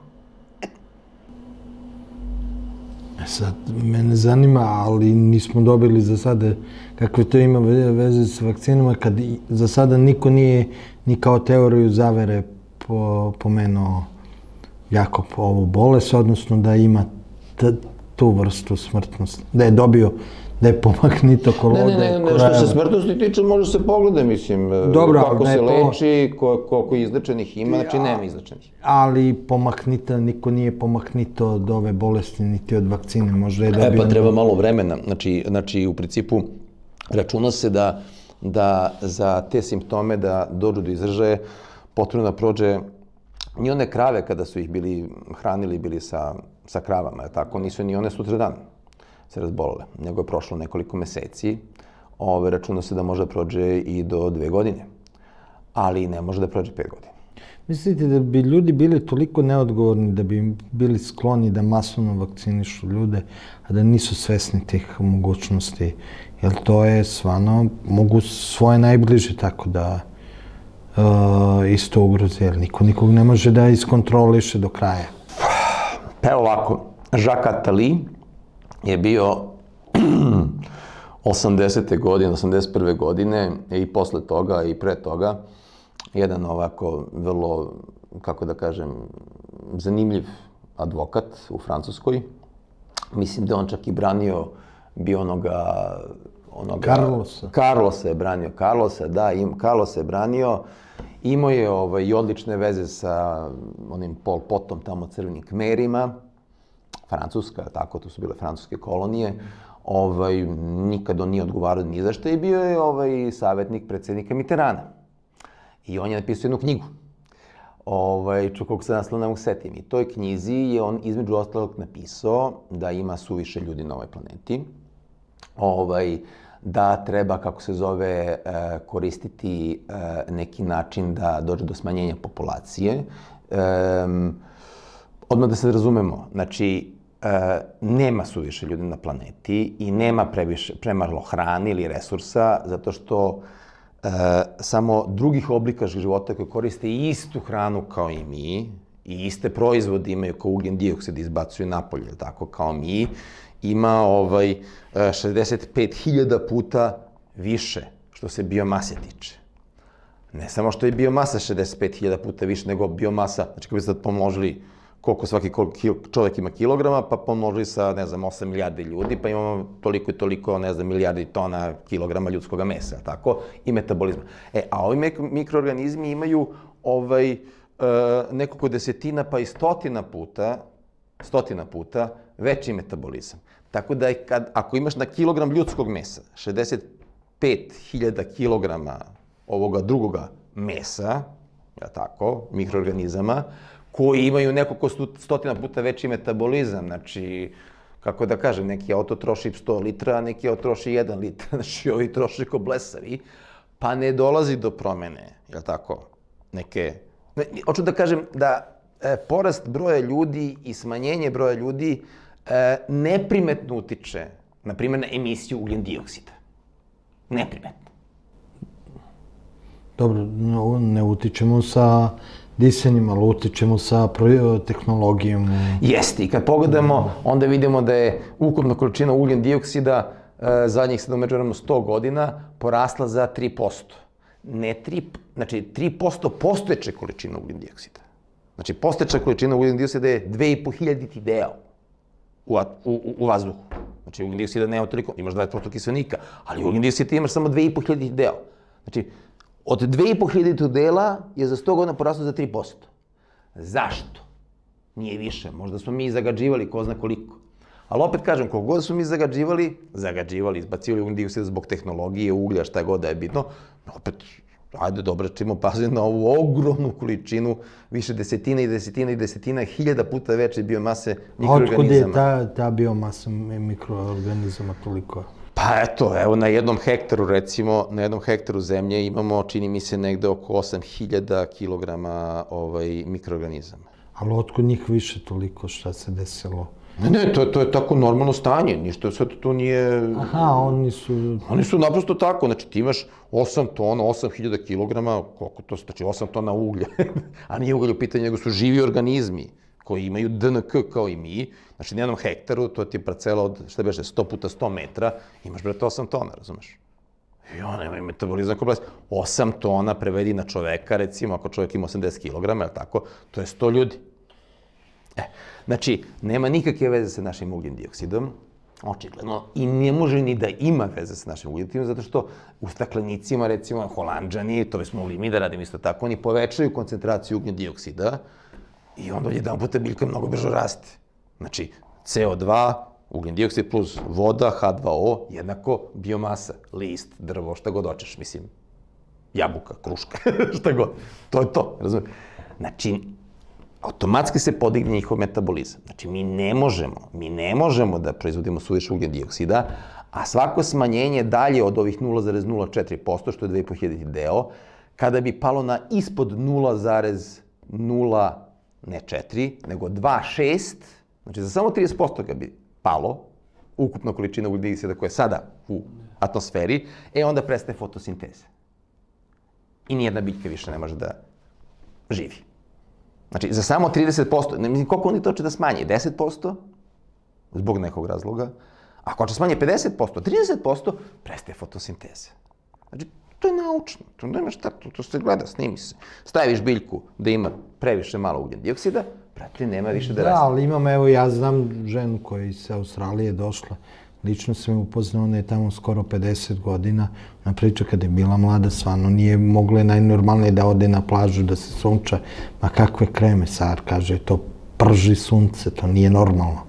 Speaker 1: Sad, mene zanima, ali nismo dobili za sada kakve to ima veze s vakcinama, kad za sada niko nije ni kao teoriju zavere pomenuo Jakob ovu bolest, odnosno da ima tu vrstu smrtnosti, da je dobio, da je pomagnitokolode.
Speaker 2: Ne, što se smrtnosti tiče, može se pogleda, mislim, kako se leči, koliko izlečenih ima, znači nema izlečenih.
Speaker 1: Ali niko nije pomahnito od ove bolesti, niti od vakcine, možda je dobio...
Speaker 2: Pa treba malo vremena, znači u principu računa se da za te simptome da dođu do izražaja potrebno da prođe ni one krave kada su ih hranili sa kravama, tako, nisu ni one sutradan se razbolele, nego je prošlo nekoliko meseci. Računa se da može da prođe i do 2 godine, ali ne može da prođe 5 godina.
Speaker 1: Mislite da bi ljudi bili toliko neodgovorni da bi bili skloni da masovno vakcinišu ljude, a da nisu svesni tih mogućnosti? Jer to je stvarno, mogu svoje najbliže tako da isto ugrozi, jer niko nikog ne može da iskontroliše do kraja.
Speaker 2: Pa evo ovako, Jacques Attali je bio 80. godine, 81. godine i posle toga i pre toga jedan ovako vrlo, kako da kažem, zanimljiv advokat u Francuskoj. Mislim da on čak i branio Carlosa je branio. Carlosa je branio. Imao je i odlične veze sa onim Pol Potom, tamo crvenim Kmerima. Francuska, tako, to su bile francuske kolonije. Nikad on nije odgovarao ni za što i bio je savjetnik predsjednika Mitterranda. I on je napisao jednu knjigu. Koliko se naslov ne mogu setim. I toj knjizi je on između ostalog napisao da ima suviše ljudi na ovoj planeti. Da treba, kako se zove, koristiti neki način da dođe do smanjenja populacije. Odmah da se razumemo, znači, nema suviše ljudi na planeti i nema premalo hrane ili resursa, zato što samo drugih oblika života koji koriste istu hranu kao i mi i iste proizvode imaju kao ugljen dioksid izbacuju napolje, tako kao mi, ima 65.000 puta više što se biomase tiče. Ne samo što je biomasa 65.000 puta više nego biomasa, znači kako bi sad pomnožili koliko svaki čovjek ima kilograma, pa pomnožili sa, 8 milijardi ljudi, pa imamo toliko i toliko, milijardi tona kilograma ljudskog mesa, tako, i metabolizma. A ovi mikroorganizmi imaju nekoliko desetina pa i stotina puta veći metabolizam. Tako da ako imaš na kilogram ljudskog mesa 65.000 kilograma ovoga drugoga mesa, tako, mikroorganizama, koji imaju nekoliko stotina puta veći metabolizam, znači, kako da kažem, neki auto troši 100 litra, a neki auto troši 1 litra, znači ovi troši ko blesavi, pa ne dolazi do promene, jel tako, neke... Hoću da kažem da porast broja ljudi i smanjenje broja ljudi neprimetno utiče, na primjer, na emisiju ugljen dioksida. Neprimetno.
Speaker 1: Dobro, ne utičemo sa disanjem, ali utičemo sa tehnologijom.
Speaker 2: Jeste, i kad pogledamo, onda vidimo da je ukupna količina ugljen dioksida zadnjih 100 godina porasla za 3%. Znači, 3% postojeće količine ugljen dioksida. Znači, postojeća količina ugljen dioksida je 2.500 deo u vazduhu. Znači, ugljen dioksida nema toliko, imaš 20% kiselnika, ali ugljen dioksida imaš samo 2.500 deo. Znači, od 2.500 dela je za 100 godina poraslo za 3%. Zašto? Nije više. Možda smo mi zagađivali, ko zna koliko. Ali opet kažem, koliko god smo mi zagađivali, izbacivali ugljen dioksida zbog tehnologije, uglja, šta god da je bitno, opet, ajde dobro, čimo paziti na ovu ogromnu količinu, više desetina hiljada puta veće biomase mikroorganizama.
Speaker 1: Otkud je ta biomasa mikroorganizama toliko?
Speaker 2: Pa evo, na jednom hektaru, recimo, na jednom hektaru zemlje imamo, čini mi se, negde oko 8.000 kilograma mikroorganizama.
Speaker 1: Ali otkud njih više toliko, šta se desilo?
Speaker 2: Ne, to je tako normalno stanje, ništa sve to nije...
Speaker 1: Aha, oni su...
Speaker 2: Oni su naprosto tako, znači ti imaš 8 tona, 8000 kilograma, koliko to znači 8 tona uglja, a nije ugalj u pitanju, nego su živi organizmi koji imaju DNK kao i mi, znači na jednom hektaru, to ti je parcela od, šta beše, 100 puta 100 metra, imaš, brate, 8 tona, razumeš? I on ima metabolizam kompleks. 8 tona prevedi na čoveka, recimo, ako čovjek ima 80 kilograma, je tako, to je 100 ljudi. Znači, nema nikakve veze sa našim ugljen dioksidom, očigledno, i ne može ni da ima veze sa našim ugljen dioksidom, zato što u staklenicima, recimo, Holanđani, to bismo mogli mi da radimo isto tako, oni povećaju koncentraciju ugljen dioksida i onda jedan puta biljka mnogo brže raste. Znači, CO2, ugljen dioksid plus voda, H2O, jednako biomasa, list, drvo, šta god hoćeš, mislim, jabuka, kruška, šta god. To je to, razumiješ? Znači, automatski se podigne njihov metabolizam. Znači, mi ne možemo da proizvodimo suviše ugljen dioksida, a svako smanjenje dalje od ovih 0,04%, što je 2500 deo, kada bi palo na ispod 0,0, ne 4, nego 2,6, znači za samo 30% kad bi palo, ukupna količina ugljen dioksida koja je sada u atmosferi, onda prestaje fotosinteza. I nijedna biljka više ne može da živi. Znači, za samo 30%, ne mislim koliko oni to će da smanje, 10%, zbog nekog razloga, ako će smanje 50%, 30%, prestaje fotosinteza. Znači, to je naučno, to nema šta, to se gleda, snimi se. Staviš biljku da ima previše malo ugljen dioksida, prati, nema više da raste.
Speaker 1: Da, ali imam, evo, ja znam ženu koja iz Australije došla, lično sam je upoznao, ona je tamo skoro 50 godina, na priča kada je bila mlada, stvarno nije mogla najnormalnije da ode na plažu, da se sunča, ma kakve kreme, Sar, kaže, to prži sunce, to nije normalno.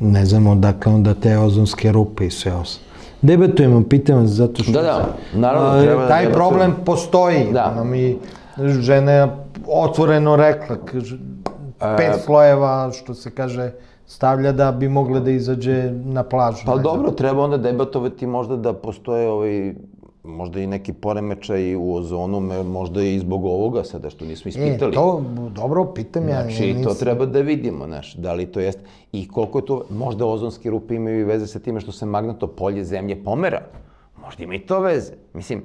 Speaker 1: Ne znamo odakle onda te ozonske rupe i sve ostalo. Debatujemo, pitam zato što...
Speaker 2: Da, naravno, treba...
Speaker 1: Taj problem postoji, ona mi žena otvoreno rekla, 5 slojeva, što se kaže, stavlja da bi mogle da izađe na plažu.
Speaker 2: Pa dobro, treba onda debatovati možda da postoje možda i neki poremećaj u ozonu, možda i zbog ovoga sada što nismo ispitali.
Speaker 1: To, dobro, pitam ja.
Speaker 2: Znači, to treba da vidimo, znaš, da li to jeste. I koliko je to, možda ozonske rupe imaju i veze sa time što se magnetno polje zemlje pomera. Možda ima i to veze. Mislim,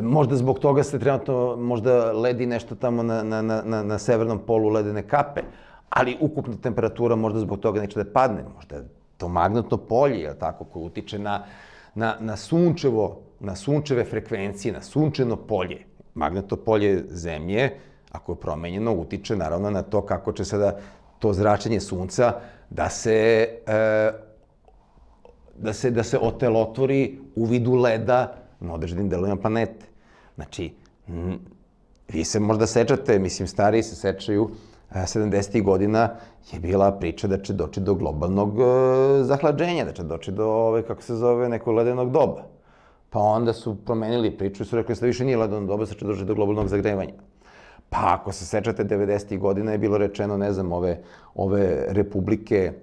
Speaker 2: možda zbog toga se trenutno, možda ledi nešto tamo na severnom polu ledene kape, ali ukupna temperatura možda zbog toga neće da padne. Možda to magnetno polje, je tako, koje utiče na sunčeve frekvencije, na sunčeno polje. Magnetno polje zemlje, ako je promenjeno, utiče naravno na to kako će sada to zračenje sunca da se otelotvori u vidu leda na određenim delovima planete. Znači, vi se možda sećate, mislim, stariji se sećaju, 70. godina je bila priča da će doći do globalnog zahlađenja, da će doći do, kako se zove, nekog ledenog doba. Pa onda su promenili priču i su rekli da više nije ledeno doba, da će doći do globalnog zagrevanja. Pa ako se sećate, 90. godina je bilo rečeno, ne znam, ove republike,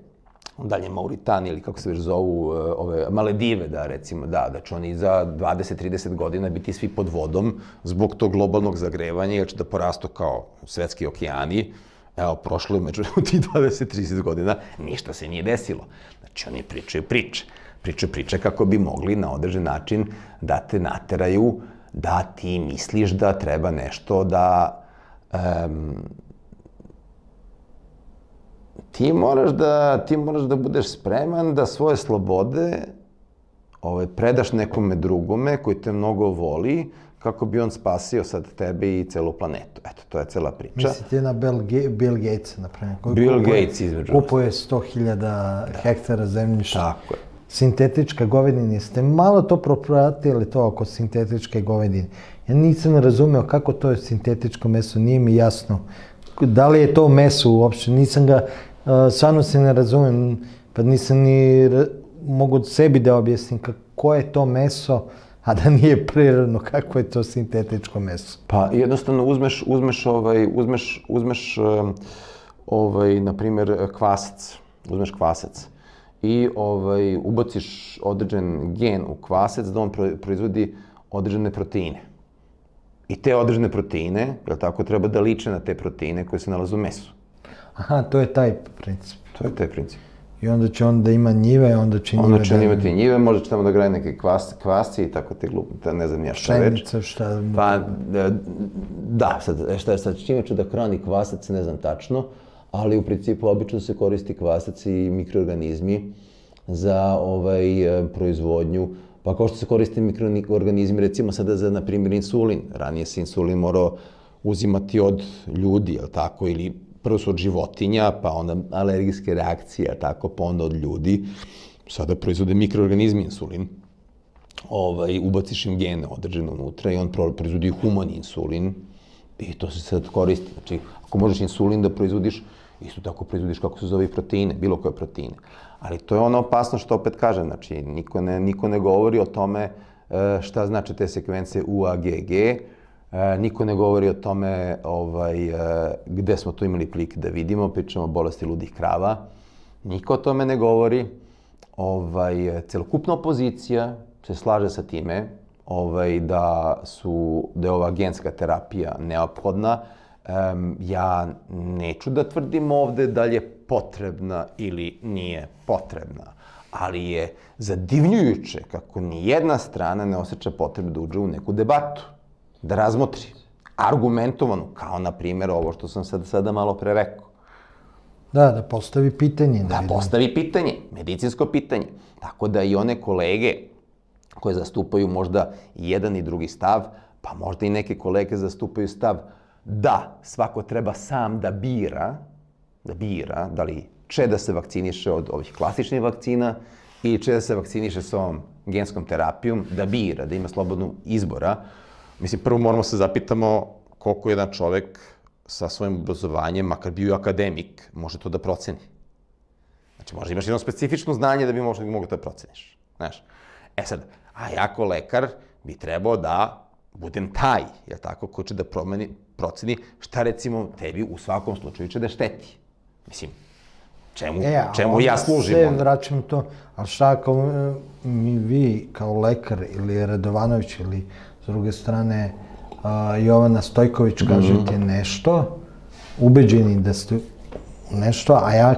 Speaker 2: dalje Mauritanije ili kako se već zovu, ove Maledive, da recimo, da će oni za 20-30 godina biti svi pod vodom zbog tog globalnog zagrevanja, jer će da porastu kao svetski okeani. Evo, prošlo je među tih 20-30 godina, ništa se nije desilo. Znači, oni pričaju priče kako bi mogli na određen način da te nateraju da ti misliš da treba nešto da... Ti moraš da budeš spreman da svoje slobode predaš nekome drugome koji te mnogo voli, kako bi on spasio sad tebe i celu planetu. Eto, to je cela priča.
Speaker 1: Mislite na Bill Gatesa, napravljeno?
Speaker 2: Bill Gates, između.
Speaker 1: Kupuje 100.000 hektara zemljišta.
Speaker 2: Tako je.
Speaker 1: Sintetička govedina, jeste malo to propratili to oko sintetičke govedine? Ja nisam razumeo kako to je sintetičko meso, nije mi jasno. Da li je to meso uopšte? Nisam ga, stvarno se ne razumem, pa nisam ni mogu sebi da objasnim kako je to meso, a da nije prirodno, kako je to sintetičko meso.
Speaker 2: Pa jednostavno uzmeš na primjer, kvasac, uzmeš kvasac i ubaciš određen gen u kvasac da on proizvodi određene proteine. I te određene proteine, jel tako, treba da liče na te proteine koje se nalaze u mesu.
Speaker 1: Aha, to je taj princip.
Speaker 2: To je taj princip.
Speaker 1: I onda će on da ima njive, onda će njive
Speaker 2: Onda će on imati njive, možda će tamo da graje neke kvasci i tako te glupe, ne znam ja šta reći.
Speaker 1: Pšenica, šta...
Speaker 2: Pa, da, sad čime ću da hrani kvasac, ne znam tačno, ali u principu obično se koristi kvasac i mikroorganizmi za proizvodnju. Pa kao što se koriste mikroorganizmi, recimo sada za, na primjer, insulin. Ranije se insulin morao uzimati od ljudi, jel tako, ili prvo su od životinja, pa onda alergijske reakcije, jel tako, pa onda od ljudi. Sada proizvode mikroorganizmi insulin. Ubaciš im gene određene unutra i on proizvodi humani insulin i to se sad koristi. Znači, ako možeš insulin da proizvodiš, isto tako proizvodiš kako se zove i proteine, bilo koje proteine. Ali to je ono opasno što opet kažem, znači niko ne govori o tome šta znači te sekvence UAGG, niko ne govori o tome gde smo to imali prilike da vidimo, pričamo o bolesti ludih krava, niko o tome ne govori, celokupna opozicija se slaže sa time da je ova genska terapija neophodna. Ja neću da tvrdim ovde da li je potrebna ili nije potrebna, ali je zadivljujuće kako ni jedna strana ne osjeća potrebu da uđe u neku debatu, da razmotri argumentovanu, kao na primjer ovo što sam sada malo pre rekao.
Speaker 1: Da postavi pitanje.
Speaker 2: Da postavi pitanje, medicinsko pitanje. Tako da i one kolege koje zastupaju možda jedan i drugi stav, pa možda i neke kolege zastupaju stav da svako treba sam da bira da li će da se vakciniše od ovih klasičnih vakcina ili će da se vakciniše s ovom genskom terapijom, da bira, da ima slobodnu izbora. Mislim, prvo moramo se zapitamo koliko jedan čovek sa svojim obrazovanjem, makar bio akademik, može to da proceni. Znači, možda imaš jedno specifično znanje da bi možda mogao to da proceniš. Znaš? E sad, a ja kao lekar bi trebao da budem taj, jel tako, ko će da proceni šta recimo tebi u svakom slučaju će da šteti. Mislim, čemu ja služim?
Speaker 1: Sve vraćam to, ali šta ako vi kao lekar ili Radovanović ili s druge strane Jovana Stojković kažete nešto, ubeđeni da ste nešto, a ja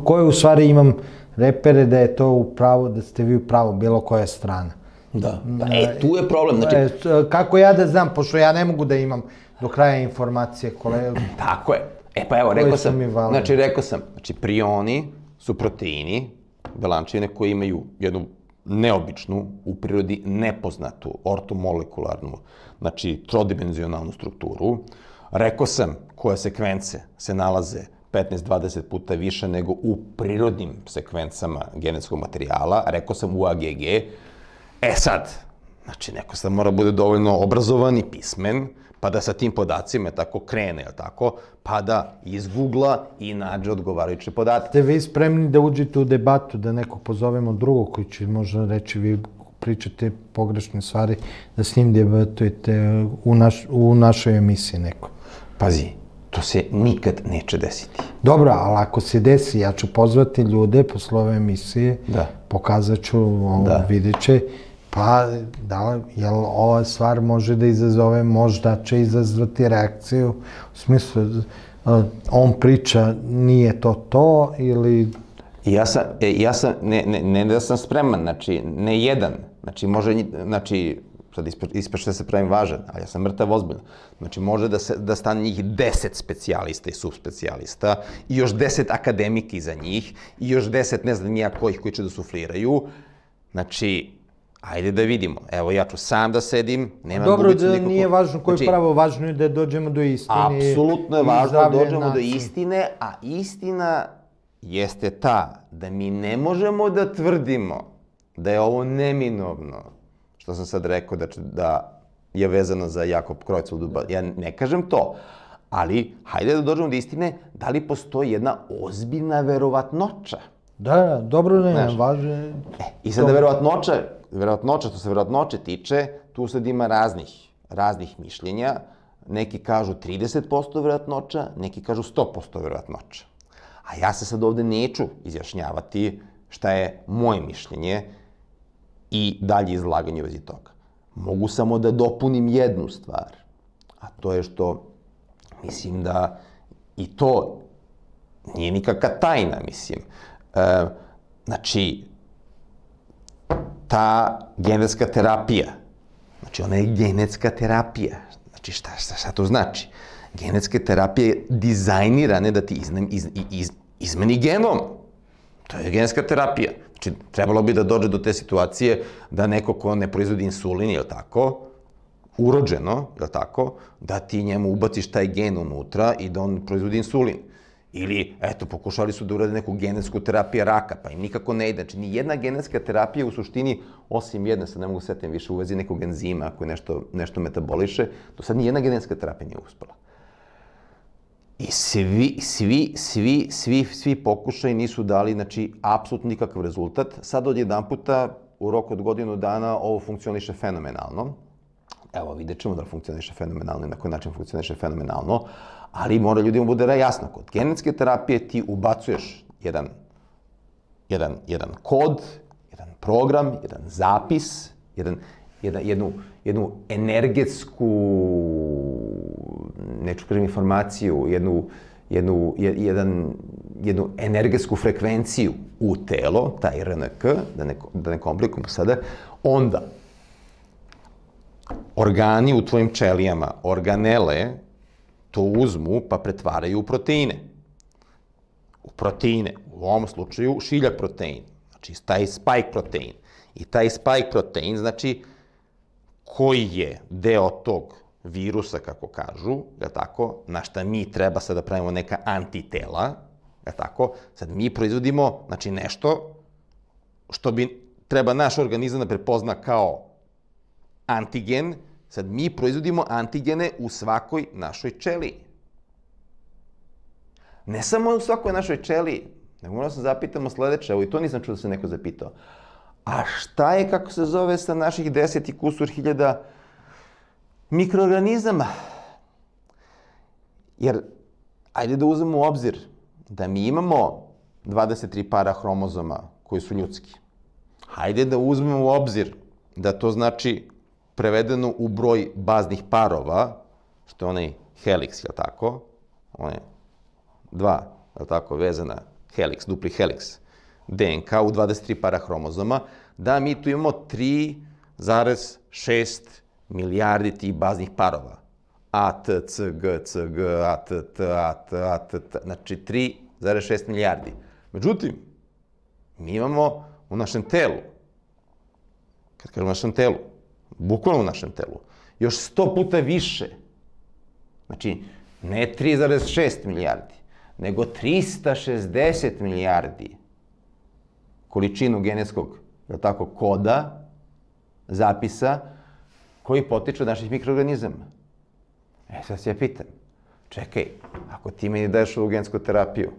Speaker 1: koje u stvari imam repere da je to u pravu, da ste vi u pravu, bilo koja strana.
Speaker 2: Da, tu je problem.
Speaker 1: Kako ja da znam, pošto ja ne mogu da imam do kraja informacije koje...
Speaker 2: Tako je. Pa evo, rekao sam, prioni su proteini, belančevine koje imaju jednu neobičnu, u prirodi nepoznatu, ortomolekularnu, znači trodimenzionalnu strukturu. Rekao sam koje sekvence se nalaze 15-20 puta više nego u prirodnim sekvencama genetskog materijala. Rekao sam UAGG. Sad, znači neko sad mora bude dovoljno obrazovan i pismen, pa da sa tim podacima tako krene, pa da izgoogla i nađe odgovarajuće podatke.
Speaker 1: Ste vi spremni da uđete u debatu, da nekog pozovemo drugog koji će možda reći vi pričate pogrešne stvari, da s njim debatujete u našoj emisiji neko?
Speaker 2: Pazi, to se nikad neće desiti.
Speaker 1: Dobro, ali ako se desi, ja ću pozvati ljude posle ove emisije, pokazat ću, vidjet će, pa, jel ova stvar može da izazove, možda će izazvati reakciju, u smislu, on priča, nije to, ili...
Speaker 2: Ja sam, ne da sam spreman, znači, ne jedan, znači, sad ispašće da se pravim važan, ali ja sam mrtav ozbiljno. Znači, može da stane njih 10 specijalista i subspecijalista i još 10 akademika iza njih i još 10, ne znam nija kojih koji će da sufliraju. Znači, ajde da vidimo. Evo, ja ću sam da sedim, nemam gubicu nikako...
Speaker 1: Dobro, da nije važno koje pravo, važno je da dođemo do istine.
Speaker 2: Apsolutno je važno da dođemo do istine, a istina jeste ta da mi ne možemo da tvrdimo da je ovo neminovno, što sam sad rekao da je vezano za Jakob Creutzfeldt. Ja ne kažem to, ali hajde da dođemo do istine da li postoji jedna ozbiljna verovatnoća.
Speaker 1: Da, dobro, ne, važno.
Speaker 2: I sada verovatnoća, što se verovatnoće tiče, tu sad ima raznih mišljenja. Neki kažu 30% verovatnoća, neki kažu 100% verovatnoća. A ja se sad ovde neću izjašnjavati šta je moje mišljenje i dalje izlaganje u vezi toga. Mogu samo da dopunim jednu stvar, a to je što mislim da i to nije nikakva tajna, mislim. Znači, ta genetska terapija, znači ona je genetska terapija. Znači, šta to znači? Genetska terapija je dizajnirana da ti izmeni genom. To je genetska terapija. Znači, trebalo bi da dođe do te situacije da neko ko ne proizvodi insulin, je li tako, urođeno, je li tako, da ti njemu ubaciš taj gen unutra i da on proizvodi insulin. Ili, eto, pokušali su da urade neku genetsku terapiju raka, pa im nikako ne ide. Znači, ni jedna genetska terapija u suštini, osim jedne, sad ne mogu setim više, u vezi nekog enzima koji nešto metaboliše, do sad ni jedna genetska terapija nije uspela. I svi pokušaj nisu dali, znači, apsolutno nikakav rezultat. Sad odjedan puta, u roku od godinu dana, ovo funkcioniše fenomenalno. Evo, vidjet ćemo da li funkcioniše fenomenalno i na koji način funkcioniše fenomenalno, ali mora ljudima bude jasno. Kod genetske terapije ti ubacuješ jedan kod, jedan program, jedan zapis, jednu energetsku, neću kažem informaciju, jednu energetsku frekvenciju u telo, taj RNK, da ne komplikujemo sada, onda organi u tvojim ćelijama, organele, to uzmu pa pretvaraju u proteine. U proteine, u ovom slučaju šiljak protein, znači taj spike protein. I taj spike protein, znači, koji je deo tog virusa, kako kažu, na šta mi treba sad da pravimo neka antitela, sad mi proizvodimo, znači, nešto što bi treba naš organizam da prepozna kao antigen, sad mi proizvodimo antigene u svakoj našoj ćeliji. Ne samo u svakoj našoj ćeliji, nego moramo se zapitamo sledeće, evo i to nisam čuo da se neko zapitao. A šta je, kako se zove, sa naših 10 i kusur hiljada mikroorganizama? Jer, ajde da uzmemo u obzir da mi imamo 23 para hromozoma koji su ljudski. Hajde da uzmemo u obzir da to znači prevedeno u broj baznih parova, što je onaj heliks, je li tako? One dva, je li tako, vezana heliks, dupli heliks, DNK u 23 para hromozoma, da mi tu imamo 3,6 milijardi tih baznih parova. A, T, C, G, C, G, A, T, T, A, T, A, T, T, znači 3,6 milijardi. Međutim, mi imamo u našem telu, kad kažem u našem telu, bukvalno u našem telu, još 100 puta više. Znači, ne 3,6 milijardi, nego 360 milijardi količinu genetskog, je li tako, koda, zapisa, koji potiču od naših mikroorganizama. Sad se ja pitam, čekaj, ako ti meni daješ ovu gensku terapiju,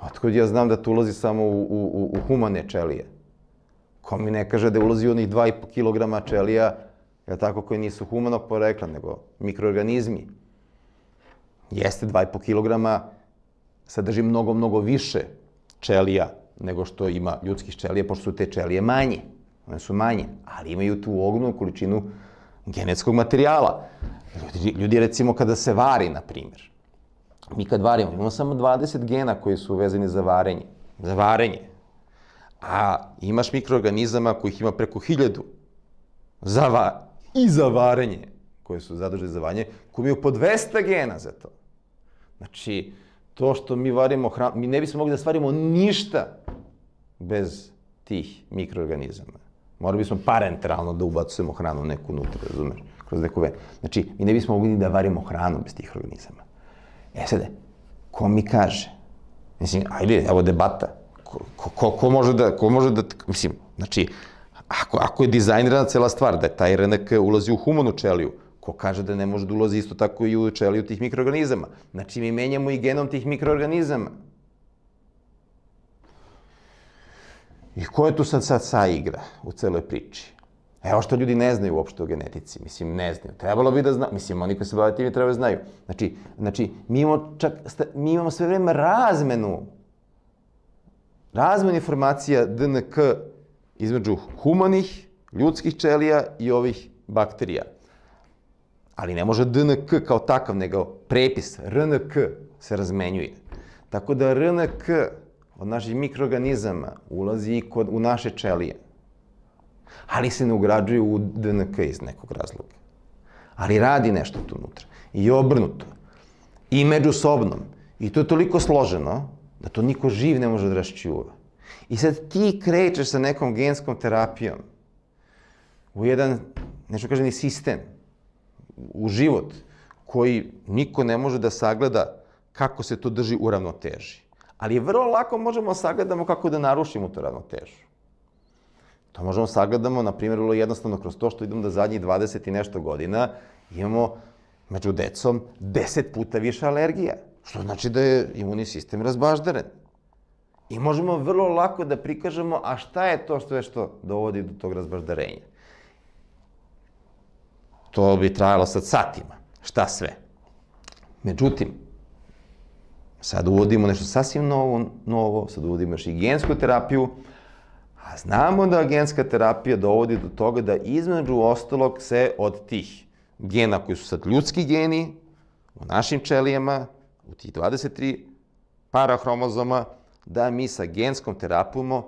Speaker 2: otkud ja znam da to ulazi samo u humane ćelije? Ko mi ne kaže da ulazi onih 2,5 kilograma ćelija, je tako, koji nisu humanog porekla, nego mikroorganizmi. Jeste 2,5 kilograma, sadrži mnogo više ćelija nego što ima ljudskih ćelija, pošto su te ćelije manje. One su manje, ali imaju tu ogromnu količinu genetskog materijala. Ljudi, recimo, kada se vari, na primjer, mi kad varimo, imamo samo 20 gena koji su vezani za varenje. Za varenje. A imaš mikroorganizama kojih ima preko 1000 i za varenje, koje su zaduženi za varenje, koji imaju po 200 gena za to. Znači, to što mi varimo hranu, mi ne bismo mogli da stvarimo ništa bez tih mikroorganizama. Morali bismo parenteralno da ubacujemo hranu neku unutra, razumeš, kroz neku venu. Znači, mi ne bismo mogli ni da varimo hranu bez tih organizama. Sada, ko mi kaže? Mislim, ajde, evo debata. Ko može da, mislim, znači, ako je dizajnirana cela stvar, da je taj RNK ulazi u humanu ćeliju, ko kaže da ne može da ulazi isto tako i u ćeliju tih mikroorganizama? Znači, mi menjamo i genom tih mikroorganizama. I ko je tu sad saigra u celoj priči? Evo što ljudi ne znaju uopšte o genetici, mislim, ne znaju. Trebalo bi da znaju, mislim, oni koji se bave tim treba da znaju. Znači, mi imamo sve vreme razmenu informacija DNK između humanih, ljudskih ćelija i ovih bakterija. Ali ne može DNK kao takav, nego prepis RNK se razmenjuje. Tako da RNK od naših mikroorganizama ulazi i u naše ćelije. Ali se ne ugrađuje u DNK iz nekog razloga. Ali radi nešto tu unutra. I obrnuto. I međusobno. I to je toliko složeno da to niko živ ne može da raščuva. I sad ti krećeš sa nekom genskom terapijom u jedan, nešto kažem, sistem, u život, koji niko ne može da sagleda kako se to drži u ravnoteži. Ali vrlo lako možemo sagledamo kako da narušimo tu ravnotežu. To možemo sagledamo, na primjer, vrlo jednostavno kroz to što idemo da zadnjih 20 i nešto godina imamo među decom 10 puta više alergija, što znači da je imunni sistem razbaždaren. I možemo vrlo lako da prikažemo, a šta je to što dovodi do tog razbaždarenja. To bi trajalo sad satima. Šta sve? Međutim, sad uvodimo nešto sasvim novo, sad uvodimo još i gensku terapiju, a znamo da genska terapija dovodi do toga da između ostalog se od tih gena koji su sad ljudski geni, u našim ćelijama, u tih 23 para hromozoma, da mi sa genskom terapijom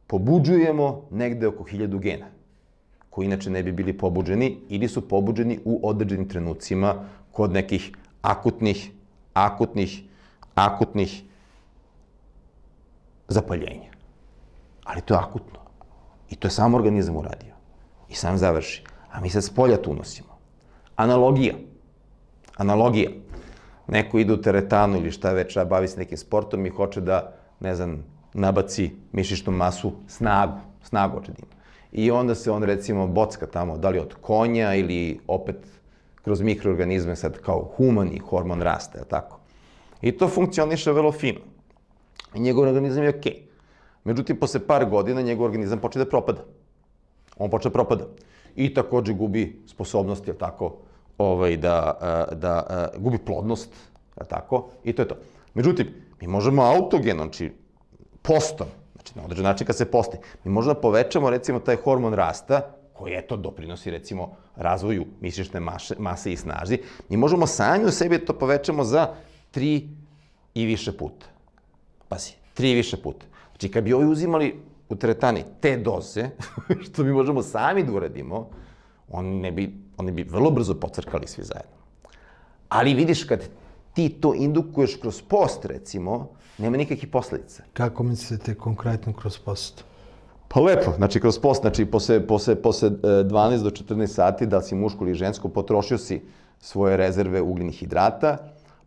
Speaker 2: pobuđujemo negde oko 1000 gena, koji inače ne bi bili pobuđeni ili su pobuđeni u određenim trenucima kod nekih akutnih zapaljenja. Ali to je akutno. I to je sam organizam uradio. I sam završi. A mi sad s polja tu unosimo. Analogija. Neko ide u teretanu ili šta već, bavi se nekim sportom i hoće da, ne znam, nabaci mišićnu masu, snagu hoće da ima. I onda se on, recimo, bocka tamo, da li od konja ili opet kroz mikroorganizme, sad kao humani hormon rasta, je li tako? I to funkcioniše vrlo fino. I njegov organizam je okej. Međutim, posle par godina njegov organizam počne da propada. On počne da propada. I takođe gubi sposobnost, je li tako, da gubi plodnost, je li tako? I to je to. Međutim, mi možemo autogeno, znači postom, znači na određen način kad se posti, mi možemo da povećamo, recimo, taj hormon rasta, koji, eto, doprinosi, recimo, razvoju mišićne mase i snazi, mi možemo sami u sebi to povećamo za 3 i više puta. Pazi, 3 i više puta. Znači, kad bi ovi uzimali u teretani te doze, što mi možemo sami da uradimo, oni bi vrlo brzo pocrkali svi zajedno. Ali vidiš, kad ti to indukuješ kroz post, recimo, nema nikakvih posledica.
Speaker 1: Kako mislite konkretno kroz post?
Speaker 2: Pa lepo, znači kroz post, znači posle 12 do 14 sati, da li si muško ili žensko, potrošio si svoje rezerve ugljenih hidrata,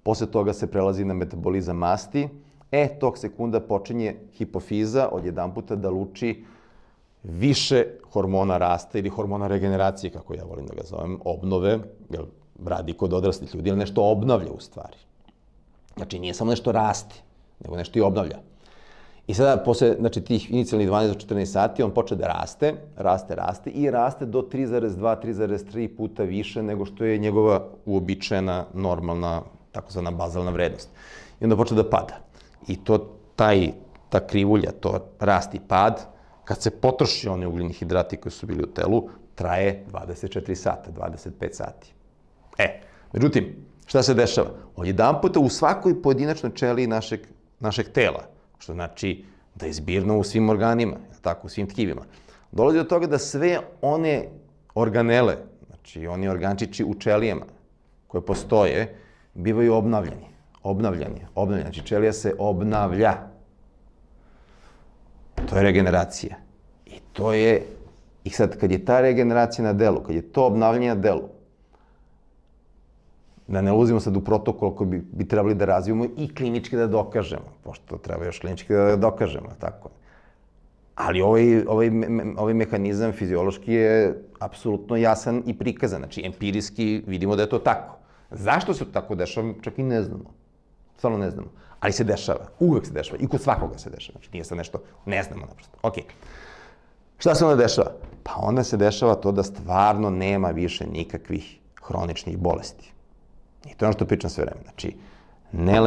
Speaker 2: posle toga se prelazi na metabolizam masti, tog sekunda počinje hipofiza odjedanputa da luči više hormona rasta ili hormona regeneracije, kako ja volim da ga zovem, obnove, jer radi kod odraslih ljudi, ili nešto obnavlja u stvari. Znači nije samo nešto raste, nego nešto i obnavlja. I sada, posle tih inicijalnih 12 do 14 sati, on počne da raste i raste do 3,2, 3,3 puta više nego što je njegova uobičajena, normalna, takozvana bazalna vrednost. I onda počne da pada. I ta krivulja, to rast i pad, kad se potroši oni ugljeni hidrati koji su bili u telu, traje 24 sata, 25 sati. Međutim, šta se dešava? Odjedanputa u svakoj pojedinačnoj ćeliji našeg tela, što znači da je zbirno u svim organima, tako, u svim tkivima, dolazi do toga da sve one organele, znači oni organčići u ćelijama koje postoje, bivaju obnavljani. Znači ćelija se obnavlja. To je regeneracija. I sad, kad je ta regeneracija na delu, kad je to obnavljanje na delu, da ne ulazimo sad u protokol koji bi trebali da razvijemo i klinički da dokažemo, pošto treba još klinički da dokažemo, tako. Ali ovaj mehanizam fiziološki je apsolutno jasan i prikazan, znači empirijski vidimo da je to tako. Zašto se to tako dešava, čak i ne znamo. Stvarno ne znamo. Ali se dešava, uvek se dešava i kod svakoga se dešava, znači nije sad nešto, ne znamo naprosto. Okej. Šta se onda dešava? Pa onda se dešava to da stvarno nema više nikakvih hroničnih bolesti. I to je ono što pričam sve vreme. Znači, ne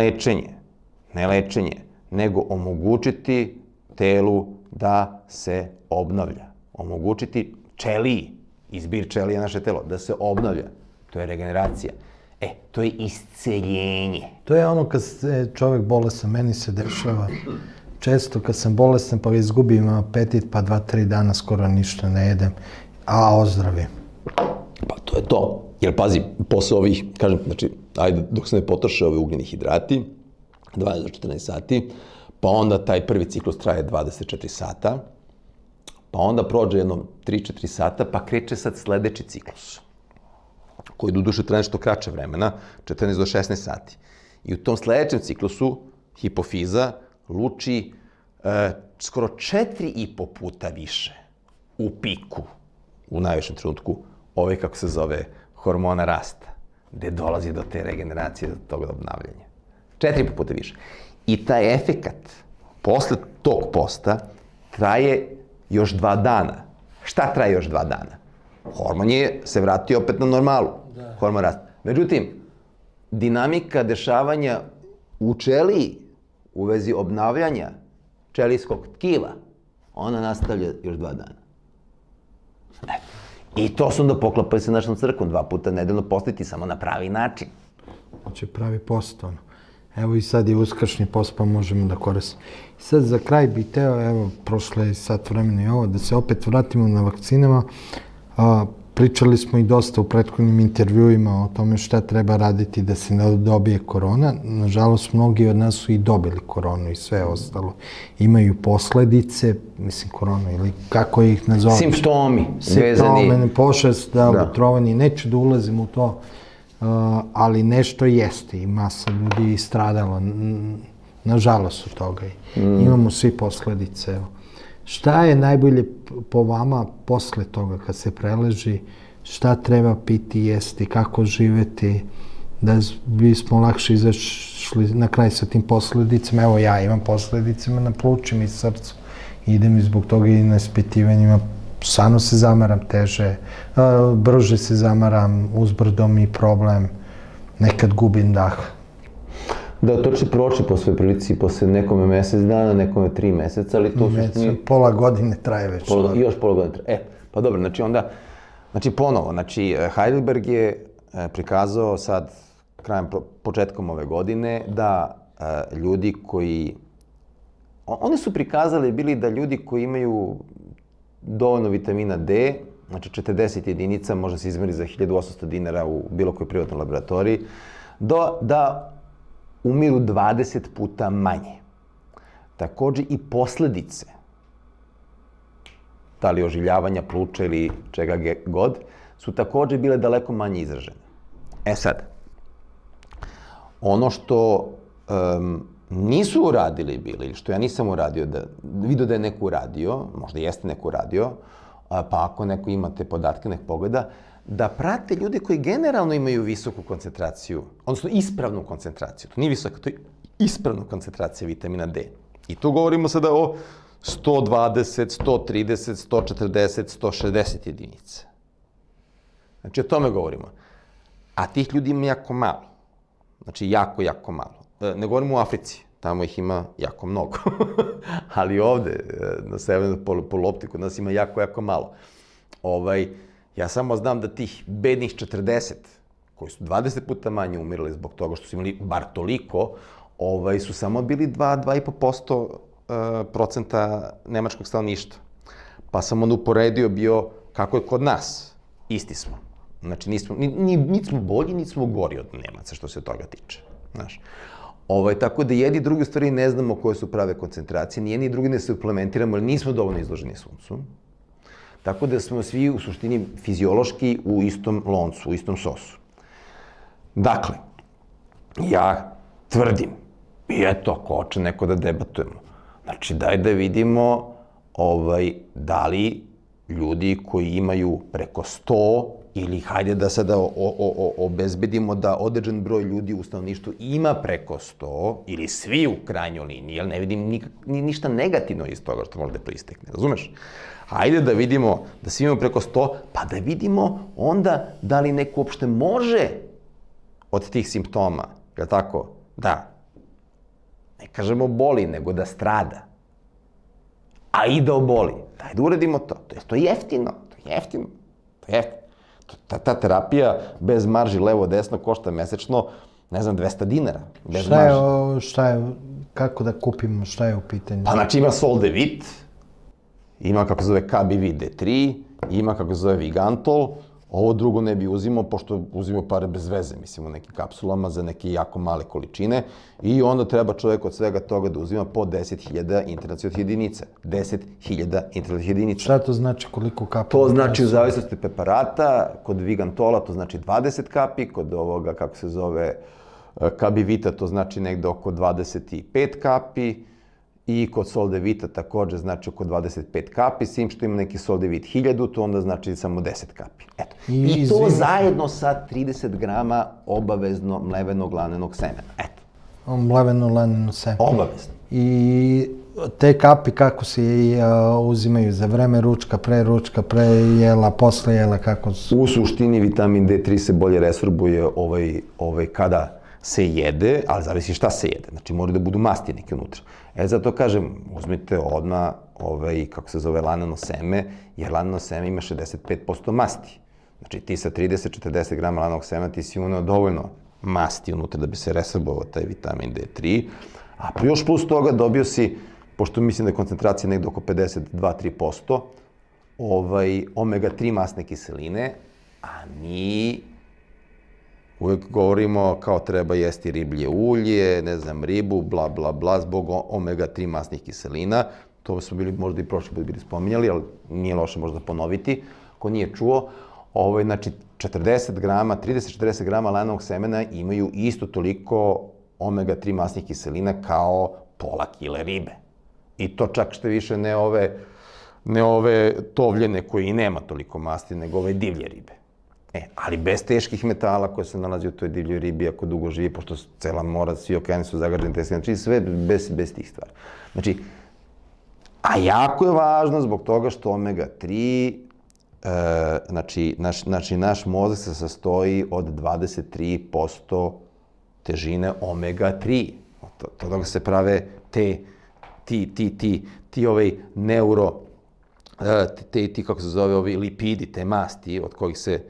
Speaker 2: lečenje, nego omogućiti telu da se obnavlja. Omogućiti ćeliji, izbir ćelije naše telo, da se obnavlja. To je regeneracija. To je isceljenje.
Speaker 1: To je ono kad se čovjek bolestan, meni se dešava često kad sam bolestan pa izgubim apetit pa 2-3 dana skoro ništa ne jedem, a ozdravim.
Speaker 2: Pa to je to. Jer pazi, posle ovih, kažem, znači, ajde, dok se ne potroše ovi ugljeni hidrati, 12 do 14 sati, pa onda taj prvi ciklus traje 24 sata, pa onda prođe jedno 3-4 sata, pa kreće sad sledeći ciklus, koji doduše traje nešto kraće vremena, 14 do 16 sati. I u tom sledećem ciklusu hipofiza luči skoro 4,5 puta više u piku, u najvišem trenutku, kako se zove, hormona rasta, gde dolazi do te regeneracije, do tog obnavljanja. 4,5 puta više. I taj efekat posle tog posta traje još 2 dana. Šta traje još 2 dana? Hormon je se vratio opet na normalu. Hormon rasta. Međutim, dinamika dešavanja u ćeliji u vezi obnavljanja ćelijskog tkiva, ona nastavlja još 2 dana. I to se onda poklapaju sa našom crkvom, 2 puta nedeljno postiti, samo na pravi način.
Speaker 1: Znači pravi post, ono. Evo i sad je uskršnji post, pa možemo da koristimo. Sad za kraj bih teo, evo, prošle je sat vremena i ovo, da se opet vratimo na vakcinama. Pričali smo i dosta u prethodnim intervjuima o tome šta treba raditi da se ne dobije korona. Nažalost, mnogi od nas su i dobili koronu i sve ostalo. Imaju posledice, mislim koronu ili kako ih nazoveš.
Speaker 2: Simptomi.
Speaker 1: Simptomi, pošast, otrovanje. Neću da ulazim u to, ali nešto jeste i masa ljudi stradalo. Nažalost od toga. Imamo svi posledice. Šta je najbolje po vama posle toga kad se preleži? Šta treba piti, jesti, kako živeti? Da bismo lakše izašli na kraj sa tim posledicama. Evo ja imam posledicama na plućima i srcu. Idem i zbog toga i na ispitivanjima. Stvarno se zamaram teže, brže se zamaram, uzbrdo mi problem, nekad gubim dah.
Speaker 2: Da, to će proći po svoj prilici, posle nekome mesec dana, nekome 3 meseca, ali to su...
Speaker 1: Pola godine traje već.
Speaker 2: Još pola godine traje. Pa dobro, znači onda, ponovo, Heidelberg je prikazao sad, početkom ove godine, da ljudi koji... Oni su prikazali bili da ljudi koji imaju dovoljno vitamina D, znači 40 jedinica, može se izmeri za 1800 dinara u bilo kojoj privatnoj laboratoriji, da umiru 20 puta manje. Takođe i posledice, da li ožiljavanja pluća ili čega god, su takođe bile daleko manje izražene. Sad, ono što nisu uradili bili, ili što ja nisam uradio, vidio da je neko uradio, možda jeste neko uradio, pa ako neko ima te podatke, nek pogleda, da prate ljude koji generalno imaju visoku koncentraciju, odnosno ispravnu koncentraciju. To nije visoka, to je ispravna koncentracija vitamina D. I tu govorimo sada o 120, 130, 140, 160 jedinica. Znači, o tome govorimo. A tih ljudi ima jako malo. Znači, jako malo. Ne govorimo o Africi, tamo ih ima jako mnogo. Ali ovde, na severnoj polulopti, kod nas ima jako malo. Ja samo znam da tih bednih 40, koji su 20 puta manje umirali zbog toga što su imali bar toliko, su samo bili 2,5% nemačkog stanovništva. Pa sam onda uporedio bio kako je kod nas. Isti smo. Znači, niti smo bolji, niti smo gori od Nemaca što se toga tiče. Tako da jedni i drugi u stvari ne znamo koje su prave koncentracije, ni jedni i drugi ne suplementiramo, jer nismo dovoljno izloženi suncu. Tako da smo svi u suštini fiziološki u istom loncu, u istom sosu. Dakle, ja tvrdim, i eto, ako hoće neko da debatujemo, znači daj da vidimo da li ljudi koji imaju preko 100 ili hajde da sada obezbedimo da određen broj ljudi u stanovništvu ima preko 100 ili svi u krajnjoj liniji, jer ne vidim ništa negativno iz toga što može da proistekne, razumeš? Hajde da vidimo da svi imamo preko 100, pa da vidimo onda da li neko uopšte može od tih simptoma, je li tako? Da, ne kažemo boli, nego da strada. A i da oboli. Daj da uradimo to. To je jeftino. Ta terapija bez marži levo-desno košta mesečno, ne znam, 200 dinara. Bez marži.
Speaker 1: Šta je, kako da kupimo, šta je u pitanju?
Speaker 2: Pa znači ima Soldevit, ima kako se zove KBV D3, ima kako se zove Vigantol, ovo drugo ne bi uzimao, pošto uzimao pare bez veze, mislim, u nekim kapsulama za neke jako male količine i onda treba čovjek od svega toga da uzima po 10.000 internacionalnih jedinica. 10.000 internacionalnih jedinica.
Speaker 1: Šta to znači, koliko kapula?
Speaker 2: To znači u zavisnosti preparata, kod Vigantola to znači 20 kapi, kod ovoga, kako se zove, KBV-a to znači negde oko 25 kapi, i kod Soldevita također znači oko 25 kapi, s tim što ima neki Soldevit 1000, to onda znači samo 10 kapi. Eto. I to zajedno sa 30 grama obavezno mlevenog lanenog semena. Eto.
Speaker 1: Mleveno laneno seme.
Speaker 2: Obavezno.
Speaker 1: I te kapi kako se uzimaju za vreme ručka, pre jela, posle jela, kako su?
Speaker 2: U suštini vitamin D3 se bolje resorbuje kada se jede, ali zavisi šta se jede. Znači, moraju da budu masti neke unutra. Zato kažem, uzmite odmah, kako se zove, laneno seme, jer laneno seme ima 65% masti. Znači, ti sa 30-40 grama lanenog semena ti si uneo dovoljno masti unutra da bi se resorbovao taj vitamin D3, a još plus toga dobio si, pošto mislim da je koncentracija negde oko 52-3%, omega-3 masne kiseline, a mi uvijek govorimo kao treba jesti riblje ulje, ne znam, ribu, bla, bla, bla, zbog omega-3 masnih kiselina. To smo bili možda i prošli put bili spominjali, ali nije loše možda ponoviti. Ko nije čuo, znači 40 grama, 30-40 grama lanenog semena imaju isto toliko omega-3 masnih kiselina kao pola kile ribe. I to čak što više ne ove tovljene koje i nema toliko masti, nego ove divlje ribe. Ali bez teških metala koje se nalazi u toj divljoj ribi ako dugo živi, pošto cela mora, svi okeani su zagađeni, znači sve bez tih stvari. Znači, a jako je važno zbog toga što omega-3, znači naš mozak se sastoji od 23% težine omega-3. Od toga se prave kako se zove, ovi lipidi, te masti od kojih se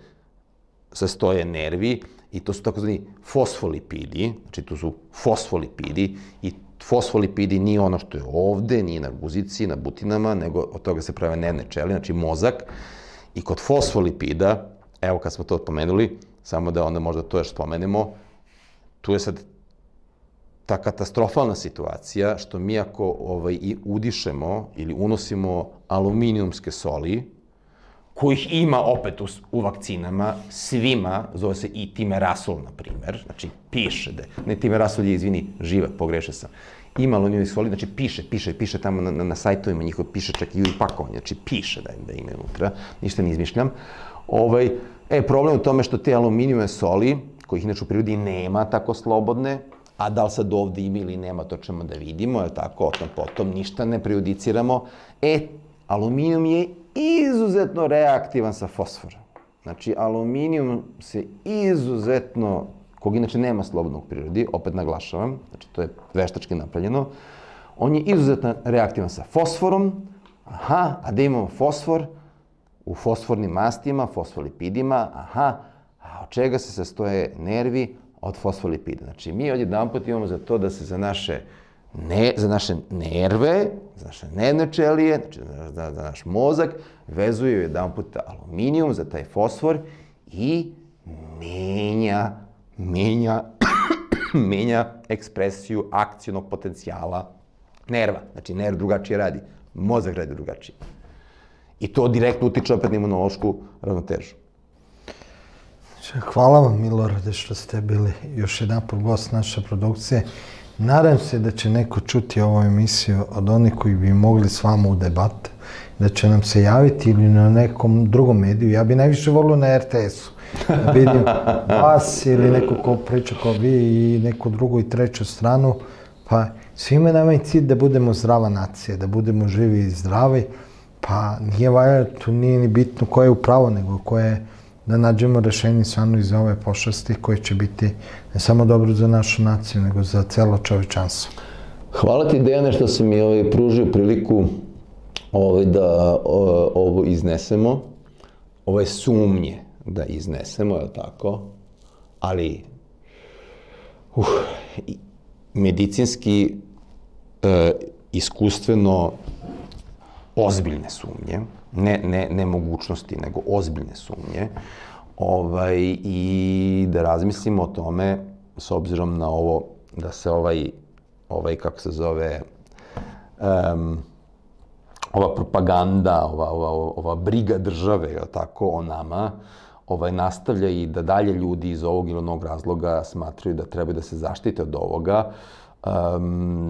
Speaker 2: sastoje nervi, i to su takozvani fosfolipidi, znači to su fosfolipidi, i fosfolipidi nije ono što je ovde, nije na guzici, na butinama, nego od toga se prave nervne ćelije, znači mozak. I kod fosfolipida, evo kad smo to pomenuli, samo da onda možda to još spomenemo, tu je sad ta katastrofalna situacija što mi ako udišemo ili unosimo aluminijumske soli, kojih ima opet u vakcinama, svima, zove se i timerasol, na primer, znači piše da, ne timerasol je, izvini, živa, pogrešio sam, ima aluminijumske soli, znači piše tamo na sajtovima njihovo, piše čak i u pakovanju, znači piše da ima unutra, ništa ne izmišljam. Problem u tome što te aluminijumne soli, kojih inače u prirodi nema tako slobodne, a da li sad ovde ima ili nema, to ćemo da vidimo, je tako, o tom potom, ništa ne prejudiciramo. Aluminijum je izuzetno reaktivan sa fosforom. Znači, aluminijum se izuzetno, kog inače nema slobodnog u prirodi, opet naglašavam, znači to je veštački napravljeno, on je izuzetno reaktivan sa fosforom, a da imamo fosfor u fosfornim mastima, fosfolipidima, a od čega se sastoje nervi? Od fosfolipida. Znači, mi odjedanput imamo za to da se za naše nerve, za naše nervne ćelije, znači za naš mozak, vezuje jedanput aluminijum za taj fosfor i menja ekspresiju akcionog potencijala nerva. Znači, nerv drugačije radi, mozak radi drugačije. I to direktno utiče opet na imunološku ravnotežu.
Speaker 1: Hvala vam, Milorade, što ste bili još jedanput gost naše produkcije. Nadam se da će neko čuti ovu emisiju od onih koji bi mogli s vama u debat, da će nam se javiti ili na nekom drugom mediju. Ja bi najviše volio na RTS-u, da vidim vas ili neko ko priča kao vi i neku drugu i treću stranu. Pa svima nama je cilj da budemo zdrava nacija, da budemo živi i zdravi. Pa nije valjda, tu nije ni bitno ko je u pravu, nego ko je da nađemo rešenje stvarno iz ove pošasti koje će biti ne samo dobro za našu naciju, nego za celo čovečanstvo.
Speaker 2: Hvala ti, Dejane, što si mi pružio priliku da ovo iznesemo, ove sumnje da iznesemo, je li tako? Ali, medicinski, iskustveno, ozbiljne sumnje, ne mogućnosti, nego ozbiljne sumnje, i da razmislimo o tome, s obzirom na ovo, da se kako se zove, ova propaganda, ova briga države, je li tako, o nama, nastavlja i da dalje ljudi iz ovog ili onog razloga smatraju da trebaju da se zaštite od ovoga,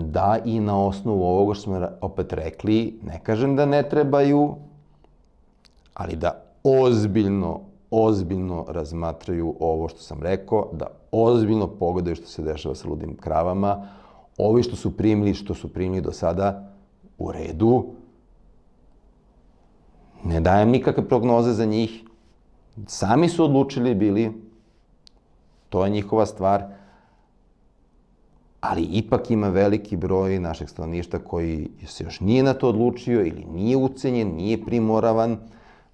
Speaker 2: da i na osnovu ovoga što smo opet rekli, ne kažem da ne trebaju, ali da ozbiljno razmatraju ovo što sam rekao, da ozbiljno pogledaju što se dešava sa ludim kravama. Ovi što su primili do sada, u redu. Ne dajem nikakve prognoze za njih. Sami su odlučili bili, to je njihova stvar, ali ipak ima veliki broj našeg stanovništva koji se još nije na to odlučio ili nije ucenjen, nije primoravan.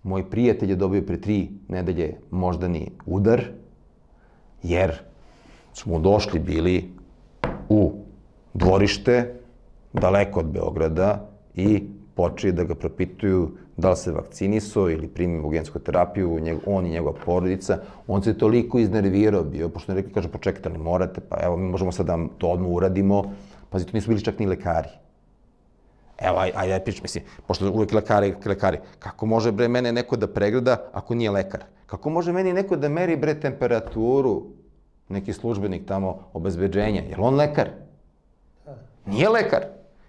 Speaker 2: Moj prijatelj je dobio pre 3 nedelje moždani udar, jer smo došli bili u dvorište, daleko od Beograda, i počeli da ga propituju da li se vakcinisao ili primio gensku terapiju, on i njegova porodica. On se toliko iznervirao bio, pošto ne rekli, kaže, počekajte, ali morate, pa evo, mi možemo sad da to odmah uradimo. Pazi, to nisu bili čak ni lekari. Evo, ajde, pričam, mislim, pošto uvek lekari, kako može, bre, mene neko da pregleda ako nije lekar? Kako može meni neko da meri, bre, temperaturu, neki službenik tamo obezbeđenja? Je li on lekar? Nije lekar.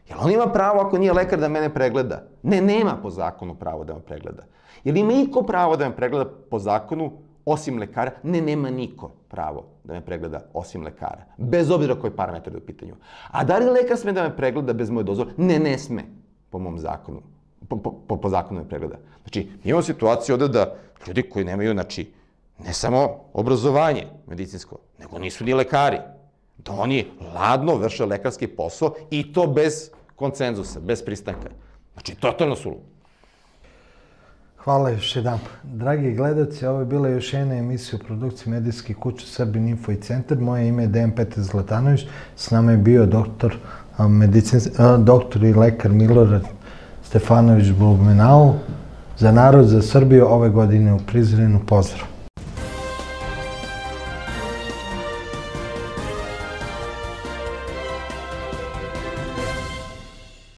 Speaker 2: Je li on ima pravo, ako nije lekar, da mene pregleda? Ne, nema po zakonu pravo da me pregleda. Je li ima iko pravo da me pregleda po zakonu, osim lekara? Ne, nema niko pravo da me pregleda, osim lekara. Bez obzira koji parametar je u pitanju. A da li lekar sme da me pregleda bez moje dozvole? Ne sme, po mom zakonu. Po zakonu me pregleda. Znači, imamo situaciju ovde da ljudi koji nemaju, znači, ne samo obrazovanje medicinsko, nego nisu ni lekari. Da oni ladno vrše lekarski posao i to bez koncenzusa, bez pristanka. Znači, totalno suludo.
Speaker 1: Hvala još jedan. Dragi gledalci, ovo je bila još jedna emisija u produkciji medijskih kuća Srbin Info i Centar. Moje ime je Dejan Petar Zlatanović. S nama je bio doktor i lekar Milorad Stefanović Blumenau. Za narod, za Srbiju, ove godine u Prizrenu. Pozdrav!